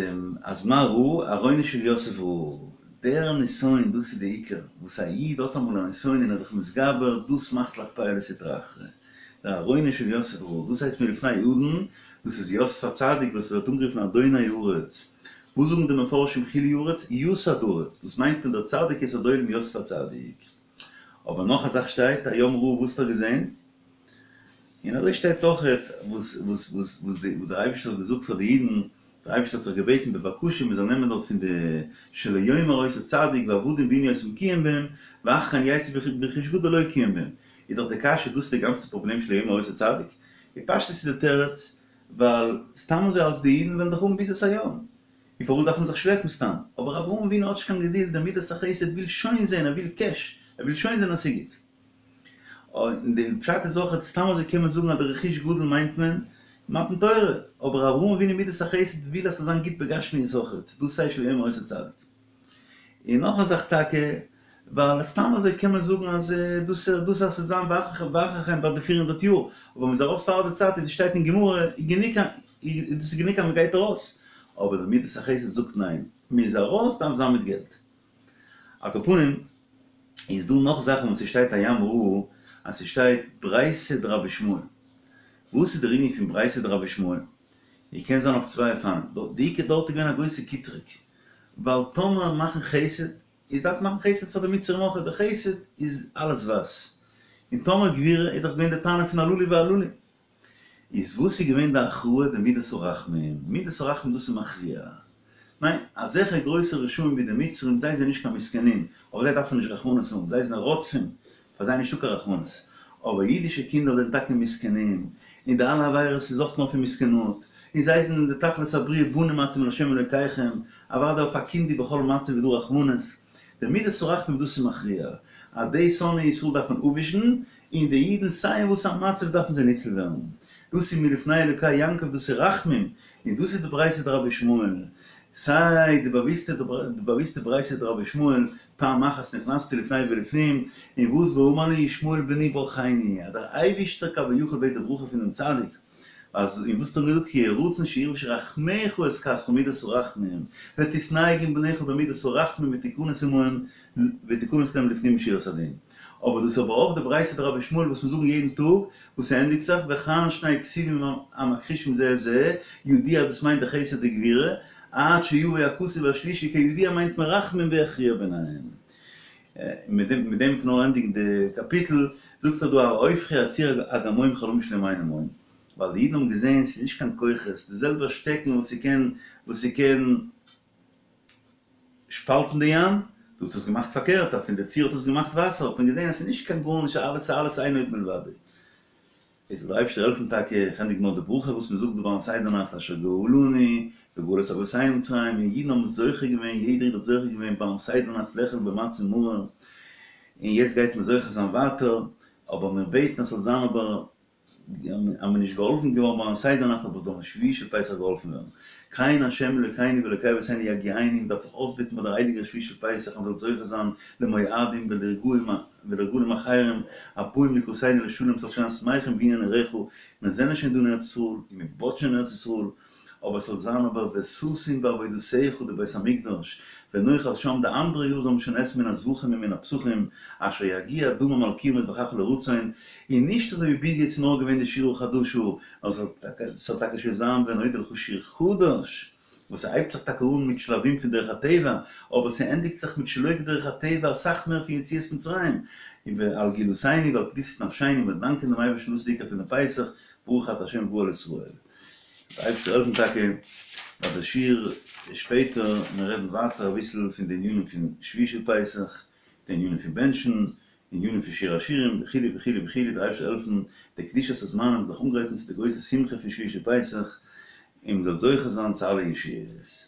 אז מה ראו ארונו של יוסף ראה, דער נסיון דאס איז די עיקר, וואס א איד האט אמאל א נסיון און ער איז זיך מתגבר, דאס מאכט לך פאה לסטרא אחרא. דער ארונו של יוסף ראה, דאס הייסט מלפני אדון, דאס איז יוסף הצדיק וואס ווערט אנגערופן אדוני הארץ. וואס זאגן די מפרשים חילי ארץ? יסד ארץ, דאס מיינט מען דער צדיק יסוד עולם יוסף הצדיק. אבער נאך א זאך שטייט, הים ראה וואס האט ער געזען? און אזוי שטייט אויכעט וואס וואס וואס וואס דער אייבערשטער האט געזאגט פאר די אידן, דער אייבערשטער האט זיך געבעטן בבקשה מען זאל נעמען דארט פון די שלא יאמר אותו צדיק ועבדום וענו אותם קיים בהם, ואחרי כן יצאו ברכוש גדול לא קיים בהם. איז דאך די קשיא דאס איז די גאנצע פראבלעם שלא יאמר אותו צדיק? בפשטות איז די תירוץ ווייל סתם אזוי אלס די אידן וועלן דאך האבן ביזת הים, און פארוואס דארף מען זיך שלעפן סתם? אבער אברהם אבינו האט נישט קיין געדולד, דער מידת החסד וויל שוין זען, ער וויל קעש, ער וויל שוין זען אז ס'איז גוט. און די פשט איז אויך, סתם אזוי קען מען זאגן אז די רכוש גדול מיינט מען מתן תורה, אבער אברהם אבינו מידת החסד וויל אז ס'זאל זיין גוט בגשמיות אויך, דאס הייסט שלא יאמר אותו צדיק. און נאך א זאך טאקע, ווייל סתם אזוי קען מען זאגן אז דאס דאס אז ס'זאל זיין ואחרי כן ביי די 400 יאר, אבער מ'איז ארויס פאר די צייט ווי ס'שטייט אין גמרא איז גענוג דאס איז גענוג אז מ'גייט ארויס, אבער די מידת החסד זאגט ניין, מ'איז ארויס דארף זיין מיט געלט. על כל פנים איז דא נאך זאכן וואס ס'שטייט הים ראה אז ס'שטייט ברייתא דרבי ישמעאל. וואס איז דער ענין פון ברייתא דרבי ישמעאל? און קען זיין אויף צוויי אופנים. די עיקר דארט איז געווען א גרויסע קיטרוג, ווייל טאמער מאכן חסד, איז דארף מאכן חסד פאר די מצרים אויך, די חסד איז אלעס ווייס. און טאמער גבורה איז דאך געווען די טענה פון הללו והללו. איז וואס איז געווען די הכרעה? די מידת הרחמים. מידת הרחמים דאס איז מכריע. ניין, אזעלכע גרויסע רשעים ווי די מצרים, זיי זענען נישט קיין מסכנים, אויף זיי דארף מען נישט רחמנות האבן, זיי זענען רודפים, פאר זיי איז נישטא קיין רחמנות. אבער אידישע קינדער זענען טאקע מסכנים, און די אלע עבירות איז אויך נאר פון מסכנות, און זיי זענען די תכלית הבריאה בנים אתם לה' אלוקיכם, אוודאי אויף א קינד איז בכל מצב איז דא רחמנות. די מידת הרחמים דאס איז מכריע, אז די שונאי ישראל דארף מען אפווישן, און די אידן סיי אין וואס א מצב דארפן זיי ניצל ווערן. דאס איז מלפני אלוקי יעקב דאס איז רחמים, און דאס איז די ברייתא דרבי ישמעאל, סיי די באוויסטע די באוויסטע ברייתא דרבי ישמעאל, פעם אחת נכנסתי לפני ולפנים, און וואס ואמר לי ישמעאל בני ברכני, אז דער אייבישטער כביכול בעט די ברכה פונעם צדיק, אז און וואס האט ער געזאגט יהי רצון שירבשו רחמיך את כסך מידת הרחמים, ותתנהג עם בניך במידת הרחמים ותכנס עמהם ותכנס להם לפנים משורת הדין. אבער דאס איז אבער אויך די ברייתא דרבי ישמעאל וואס מיר זאגן יעדן טאג, וואס ס'ענדיגט זיך וכאן שני כתובים המכחישים זה את זה, ידוע דאס מיינט די חסד וגבורה, עד שיבוא הכתוב השלישי כידוע מיינט מען רחמים ויכריע ביניהם. מיט דעם מיט דעם נאר ענדיגן די קאפיטל, זאגט ער דא ההופכי הצור אגמון חלמיש להם המים, ווייל די אידן האבן געזען ס'איז נישט קיין כוחות, די זעלבע שטעקן וואס ס'קען וואס ס'קען שפאלטן די ים, דא האט עס געמאכט פארקערט, אז פון די צור האט עס געמאכט וואסער, האט מען געזען אז ס'איז נישט קיין גארנישט, אלעס איז אלעס אין עוד מלבדו. איז זאל דער אייבערשטער העלפן טאקע, איך ענדיג נאר די ברכה וואס מען זאגט דא ביים סדר נאכט אשר גאלנו. וגאל את אבותינו ממצרים, און אידן האבן זוכה געווען, יעדער איד האט זוכה געווען ביים סדר נאכט לאכול במצה ומרור, און יעצט גייט מען זוכה זיין ווייטער, אבער מיר בעטן אז ס'זאל זיין אבער אז מ'איז נישט געהאלפן געווארן ביים סדר נאכט אבער זאל מען שביעי של פסח געהאלפן ווערן. כן ה' אלוקינו ואלוקי אבותינו יגיענו, מ'דארף זיך אויסבעטן ביי דער הייליגער שביעי של פסח אז מ'זאל זוכה זיין למועדים ולרגלים ולרגלים אחרים הבאים לקראתינו לשלום ס'זאל שוין זיין שמחים בבניין עירך, מיר זענען שוין דא אין ארץ ישראל און מ'בויט שוין אין ארץ ישראל, אבער ס'זאל זיין אבער וששון בעבודתך די בית המקדש, ונאכל שם די אנדערע יאר זאל מען שוין עסן מן הזבחים ומן הפסחים, אשר יגיע דמם על קיר מזבחך לרצון, און נישט אזוי ווי ביז יעצט איז נאר געווען די שירה חדשה, נאר ס'זאל טאקע שוין זיין ונודה לך שיר חדש, וואס ס'הייבט זיך טאקע אן מיט שלבים פון דרך הטבע, אבער ס'ענדיגט זיך מיט שלא כדרך הטבע אסאך מער פון יציאת מצרים, און ועל גאולתינו ועל פדות נפשינו, מיר דאנקען דעם אייבערשטן דאס איז די עיקר פון די פסח, ברוך אתה ה' גואל ישראל. דער אייבערשטער העלפן טאקע ביי די שיעור שפעטער מיר רעדן ווייטער אביסל פון די ענינים פון שביעי של פסח, די ענינים פון בענטשן, ענינים פון שיר השירים וכו' וכו' וכו', דער אייבערשטער העלפן די קדושת הזמנים זיך אנגרייטן צו די גרויסע שמחה פון שביעי של פסח, און מ'זאל זוכה זיין צו אלע ישועות.